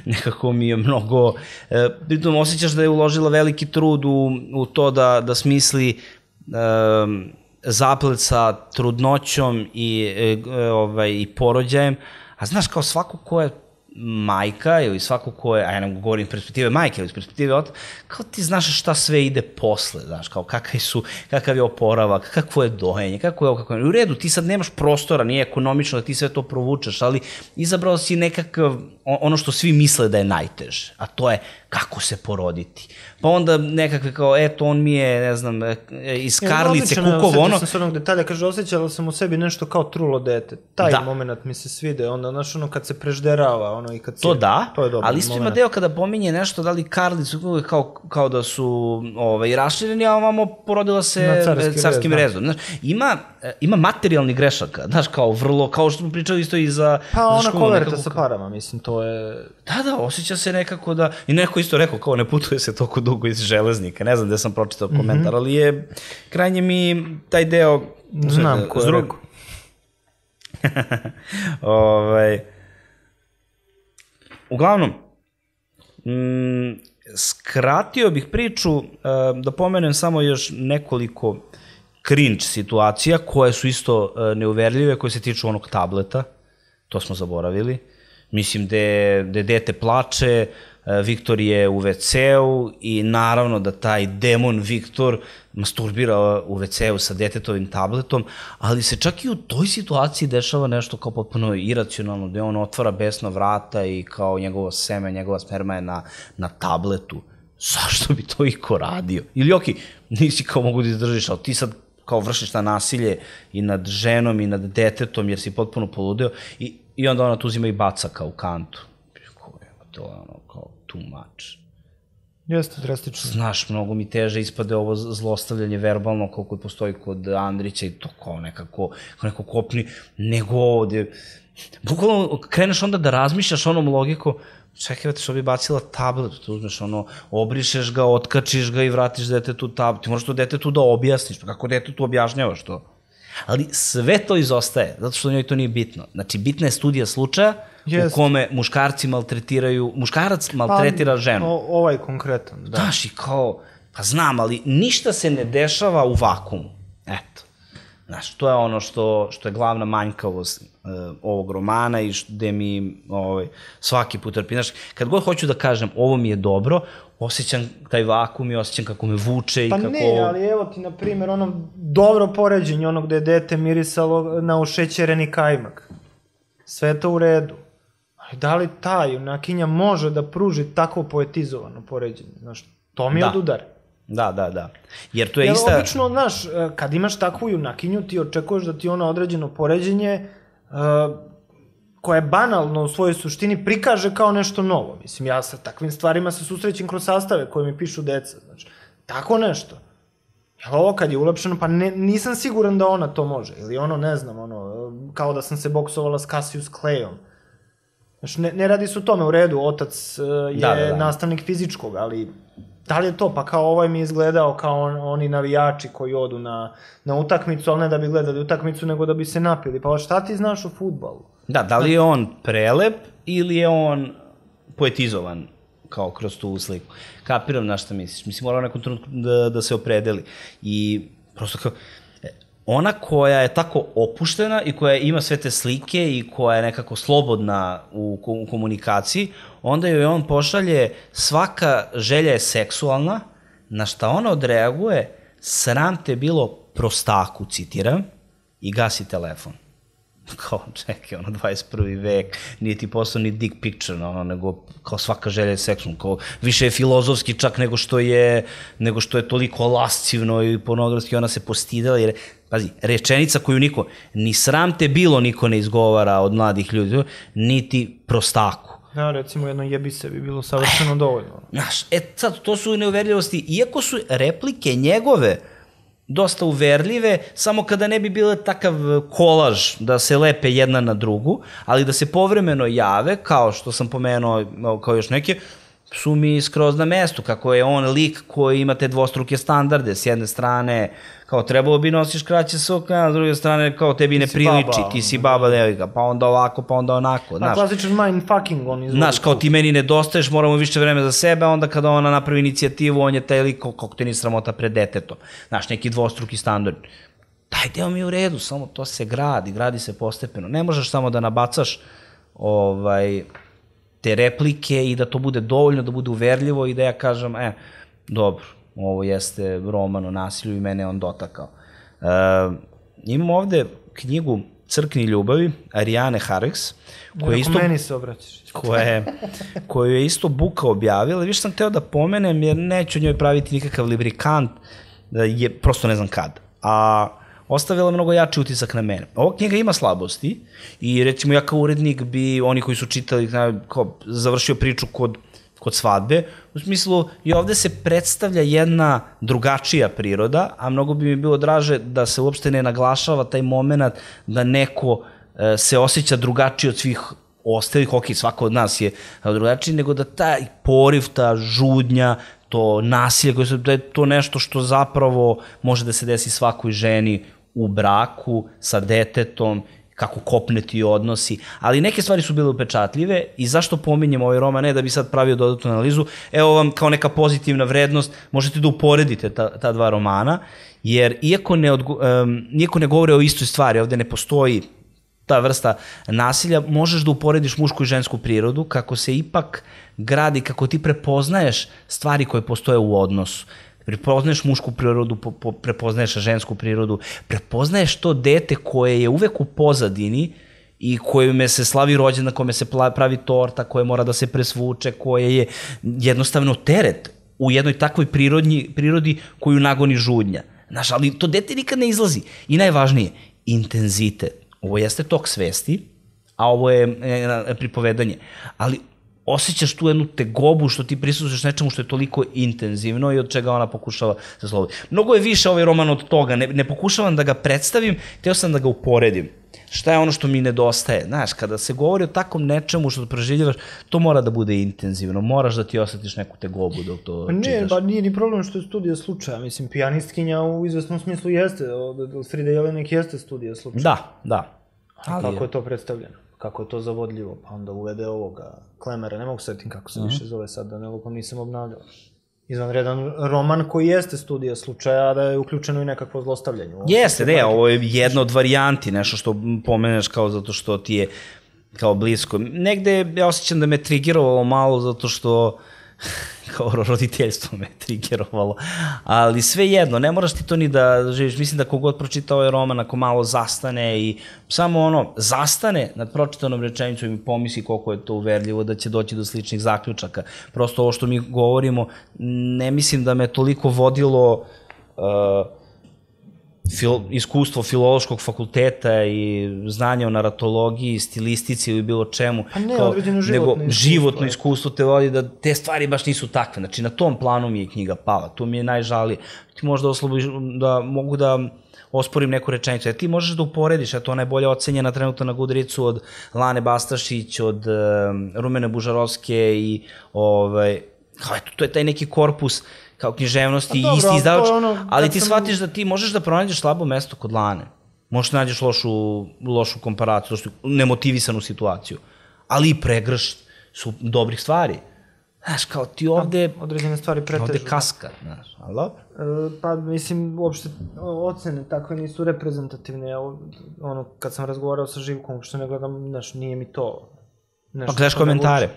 nekako mi je mnogo, e, pritom osjećaš da je uložila veliki trud u, u to da, da smisli e, zaplet sa trudnoćom i, e, ovaj, i porođajem, a znaš, kao svako ko je majka ili svako ko je, a ja ne govorim iz perspektive majke ili iz perspektive otac, kao ti znaš šta sve ide posle, znaš, kao kakav su, kakav je oporavak, kakvo je dojenje, kako je ovo, kako je, u redu, ti sad nemaš prostora, nije ekonomično da ti sve to provučeš, ali izabrao si nekakav, ono što svi misle da je najteže, a to je kako se poroditi. Pa onda nekakve kao, eto, on mi je, ne znam, iz Karlice, Kukovo, ono... Osjećam se onog detalja, kaže, osjećala sam u sebi nešto kao trulo dete. Taj da. Moment mi se svide, onda, znaš, ono, kad se prežderava, ono, i kad se... To da, to je dobro, ali isto ima deo kada pominje nešto, da li Karlice, Kukovo, kao, kao da su ovaj, rašireni, a ovamo porodila se carskim rezom. Znaš, ima, ima materijalni grešaka, znaš, kao vrlo, kao što smo pričali isto i za... Pa ona koverta sa parama, mislim, to je... Da, da, osjeća se nekako da... I neko isto rekao, kao ne putuje se toliko dugo iz Železnika, ne znam gde sam pročitao komentar, mm -hmm. ali je krajnje mi taj deo... Znam ko je rekao. ovaj, uglavnom, m, skratio bih priču, da pomenem samo još nekoliko cringe situacija koje su isto neuverljive, koje se tiču onog tableta, to smo zaboravili. Mislim, gde dete plače, Viktor je u ve ce-u i naravno da taj demon Viktor masturbira u ve ce-u sa detetovim tabletom, ali se čak i u toj situaciji dešava nešto kao potpuno iracionalno, gde on otvara besna vrata i kao njegovo seme, njegova sperma je na, na tabletu. Zašto bi to iko radio? Ili okej, nisi kao mogu da izdržiš, ali ti sad kao vršiš na nasilje i nad ženom i nad detetom jer si potpuno poludeo i, i onda ona tu uzima i baca kao u kantu. To je ono kao too much. Jeste, drastično. Znaš, mnogo mi teže ispade ovo zlostavljanje verbalno koliko postoji kod Andrića i to kao nekako, kao neko kopni, nego ovde. Bukvalno kreneš onda da razmišljaš onom logiku, čekaj, što bi bacila tablet, tu uzmeš ono, obrišeš ga, otkačiš ga i vratiš detetu tablet. Ti moraš to detetu da objasniš, pa kako detetu objašnjavaš to? Ali sve to izostaje, zato što njoj to nije bitno. Znači, bitna je studija slučaja u kome muškarci maltretiraju, muškarac maltretira ženu. Pa, ovaj konkretan, da. Znaš, i kao, pa znam, ali ništa se ne dešava u vakumu. Eto. Znaš, to je ono što, što je glavna manjkavost uh, ovog romana i gde mi ovaj, svaki put trpi. Znaš, kad god hoću da kažem ovo mi je dobro, osjećam taj vakum i osjećam kako me vuče i pa kako... Pa ne, ali evo ti, na primjer, ono dobro poređenje, ono gde je dete mirisalo na ušećereni kajmak. Sve to u redu. Ali da li ta junakinja može da pruži tako poetizovano poređenje? Znaš, to mi je od udara. Da, da, da. Jer to je Jer ista... Jer obično, znaš, kad imaš takvu junakinju, ti očekuješ da ti ona određeno poređenje uh, koje je banalno u svojoj suštini prikaže kao nešto novo. Mislim, ja sa takvim stvarima se susrećem kroz sastave koje mi pišu deca. Znači, tako nešto. Jel ovo kad je ulepšeno, pa ne, nisam siguran da ona to može. Ili ono, ne znam, ono, kao da sam se boksovala s Cassius Clayom. Znači, ne, ne radi se o tome, u redu, otac uh, je da, da, da. nastavnik fizičkog, ali da li je to? Pa kao ovaj mi je izgledao kao on, oni navijači koji odu na, na utakmicu, ali ne da bi gledali utakmicu, nego da bi se napili. Pa šta ti znaš o fudbalu? Da, da li je on prelep ili je on poetizovan kao kroz tu sliku? Kapiram na šta misliš. Mislim, mora u nekom trenutku da, da se opredeli. I prosto kao, ona koja je tako opuštena i koja ima sve te slike i koja je nekako slobodna u, u komunikaciji, onda joj on pošalje svaka želja je seksualna, na šta ona odreaguje, sram te bilo prostaku, citiram, i gasi telefon. Kao, čekaj, ono, dvadeset prvi vek, nije ti postao ni dick picture, ono, nego kao svaka želja je seksualna, kao više je filozofski čak nego što je, nego što je toliko lascivno i pornografski, ona se postidela, jer, pazi, rečenica koju niko, ni sram te bilo niko ne izgovara od mladih ljudi, niti prostaku. Da, recimo jedno jebi se bi bilo savršeno dovoljno. Znaš, e sad, to su neuverljivosti, iako su replike njegove dosta uverljive, samo kada ne bi bilo takav kolaž da se lepe jedna na drugu, ali da se povremeno jave, kao što sam pomenuo, kao još neke, su mi skroz na mestu, kako je on lik koji ima te dvostruke standarde, s jedne strane, kao trebalo bi nosiš kraće sukne, a s druge strane, kao tebi ne priliči, ti si baba devojka, pa onda ovako, pa onda onako, znaš. A klasičan mindfucking on izvoli. Znaš, kao ti meni nedostaješ, moramo više vreme za sebe, onda kada ona napravi inicijativu, on je taj lik, kako te ni sramota pred detetom. Znaš, neki dvostruki standard. Taj deo mi je u redu, samo to se gradi, gradi se postepeno. Ne možeš samo da nabacaš ovaj, te replike i da to bude dovoljno, da bude uverljivo i da ja kažem, e, dobro, ovo jeste roman o nasilju i mene on dotakao. E, imamo ovde knjigu Crkni ljubavi, Ariane Harris, koja je isto... meni se obraćaš. Koje, koju je isto Buka objavila. Više sam hteo da pomenem, jer neću njoj praviti nikakav librikant, je, prosto ne znam kad. A ostavila mnogo jači utisak na mene. Ova knjiga ima slabosti i recimo ja kao urednik bi, oni koji su čitali, kao, završio priču kod, kod svadbe, u smislu i ovde se predstavlja jedna drugačija priroda, a mnogo bi mi bilo draže da se uopšte ne naglašava taj moment da neko e, se osjeća drugačiji od svih ostalih, ok, svako od nas je drugačiji, nego da taj poriv, ta žudnja, to nasilje, koje su, da je to nešto što zapravo može da se desi svakoj ženi u braku, sa detetom, kako kopneti odnosi, ali neke stvari su bile upečatljive i zašto pominjem ovaj roman, ne da bi sad pravio dodatnu analizu, evo vam kao neka pozitivna vrednost, možete da uporedite ta, ta dva romana, jer iako ne, odgo, um, iako ne govore o istoj stvari, ovde ne postoji ta vrsta nasilja, možeš da uporediš mušku i žensku prirodu, kako se ipak gradi, kako ti prepoznaješ stvari koje postoje u odnosu. Prepoznaješ mušku prirodu, po, po, prepoznaješ žensku prirodu, prepoznaješ to dete koje je uvek u pozadini i kojime se slavi rođendan, kome se pravi torta, koje mora da se presvuče, koje je jednostavno teret u jednoj takvoj prirodnji, prirodi koju nagoni žudnja. Znaš, ali to dete nikad ne izlazi. I najvažnije, intenzitet. Ovo jeste tok svesti, a ovo je e, pripovedanje. Ali osjećaš tu jednu tegobu što ti prisustuješ nečemu što je toliko intenzivno i od čega ona pokušava da slobodi. Mnogo je više ovaj roman od toga, ne, ne pokušavam da ga predstavim, hteo sam da ga uporedim. Šta je ono što mi nedostaje? Znaš, kada se govori o takom nečemu što proživljavaš, to mora da bude intenzivno, moraš da ti osjetiš neku tegobu dok to ne, čitaš. Ne, ba nije ni problem što je studija slučaja, mislim, pijanistkinja u izvesnom smislu jeste, od Frida Jelinek jeste studija slučaja. Da, da. Ali kako je to predstavljeno? Kako je to zavodljivo, pa onda uvede ovoga Klemera, ne mogu setim kako se uh -huh. više zove sad, da ne lupam, nisam obnavljao. Izvanredan roman koji jeste studija slučaja, a da je uključeno i nekakvo zlostavljanje. Jeste, ne, ovo je jedna od varijanti, nešto što pomeneš kao zato što ti je kao blisko. Negde ja osjećam da me trigerovalo malo zato što kao roditeljstvo me trigerovalo, ali sve jedno, ne moraš ti to ni da živiš, mislim da kogod pročita ovaj roman, ako malo zastane i samo ono, zastane nad pročitanom rečenicom i pomisli koliko je to uverljivo da će doći do sličnih zaključaka. Prosto ovo što mi govorimo, ne mislim da me toliko vodilo uh, Fil, iskustvo filološkog fakulteta i znanje o naratologiji, stilistici ili bilo čemu, pa ne, kao, životno nego iskustvo, životno iskustvo te vodi da te stvari baš nisu takve. Znači, na tom planu mi je knjiga pala, to mi je najžalije. Ti možda oslobođi, da mogu da osporim neku rečenicu. Jer ti možeš da uporediš, eto ona je bolje ocenjena trenutno na Goodreadsu od Lane Bastašić, od um, Rumene Bužarovske i ovaj, kao eto, to je taj neki korpus kao književnosti i isti izdavač, ono, ali ti sam... shvatiš da ti možeš da pronađeš slabo mesto kod Lane. Možeš da nađeš lošu, lošu komparaciju, lošu, nemotivisanu situaciju, ali i pregrš su dobrih stvari. Znaš, kao ti ovde... A, određene stvari pretežu. Ovde kaska, znaš, ali dobro? E, pa, mislim, uopšte ocene takve nisu reprezentativne. Ono, kad sam razgovarao sa Živkom, uopšte ne gledam, znaš, nije mi to... Pa gledaš komentare.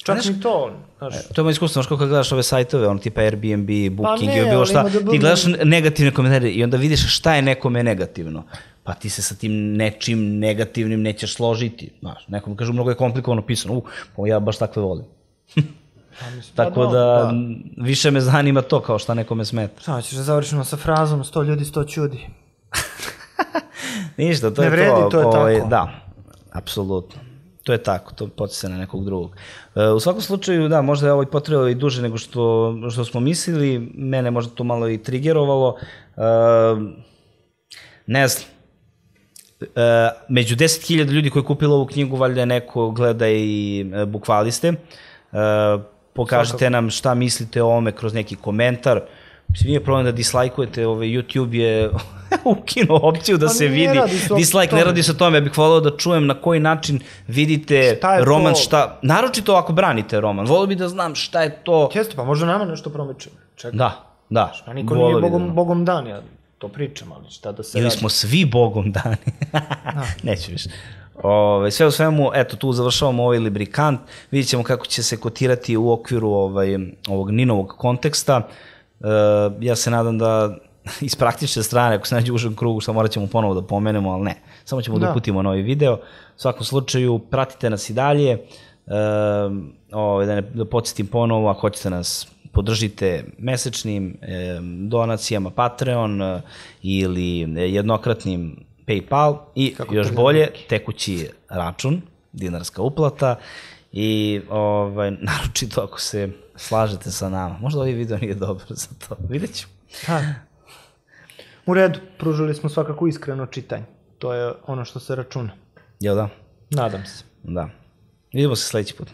Čak mi to, znaš... E, to je moj iskustvo, znaš kako gledaš ove sajtove, ono tipa Airbnb, Booking i bilo šta, ti gledaš negativne komentare i onda vidiš šta je nekome negativno. Pa ti se sa tim nečim negativnim nećeš složiti, znaš, nekom kažu mnogo je komplikovano pisano, u, pa ja baš takve volim. Tako da, više me zanima to kao šta nekome smeta. Šta ćeš da završimo sa frazom sto ljudi, sto čudi? Ništa, to je to. Ne vredi, to je tako. Da, apsolutno. To je tako, to podsjeća na nekog drugog. U svakom slučaju, da, možda je ovo i potrebalo i duže nego što, što smo mislili, mene možda to malo i trigerovalo. Ne znam, među deset hiljada ljudi koji je kupilo ovu knjigu, valjda neko gleda i bukvaliste. Pokažite Svakako. nam šta mislite o ovome kroz neki komentar. Mislim, nije problem da dislajkujete, ovaj, YouTube je ukinuo opciju da pa se vidi. Dislike, ne radi se o tome, ja bih volao da čujem na koji način vidite roman, to? Šta, naročito ako branite roman, volio bih da znam šta je to. Često, pa možda nama nešto promiče. Da, da. A niko nije bogom, da bogom dan, ja to pričam, ali šta da se Ili radi. smo svi bogom dani. Neću više. Ove, sve u svemu, eto, tu završavamo ovaj Librikant, vidjet ćemo kako će se kotirati u okviru ovaj, ovog Ninovog konteksta. E, ja se nadam da iz praktične strane, ako se nađe u užem krugu, šta morat ćemo ponovo da pomenemo, ali ne, samo ćemo da, da uputimo novi video. U svakom slučaju, pratite nas i dalje, e, ovaj, da, ne, da podsjetim ponovo, ako hoćete nas podržite mesečnim e, donacijama Patreon e, ili jednokratnim PayPal i kako još bolje tekući račun, dinarska uplata i ovaj, naročito ako se slažete sa nama. Možda ovaj video nije dobar za to, vidjet ću. Ha. U redu, pružili smo svakako iskreno čitanje. To je ono što se računa. Jel da? Nadam se. Da. Vidimo se sledeći put.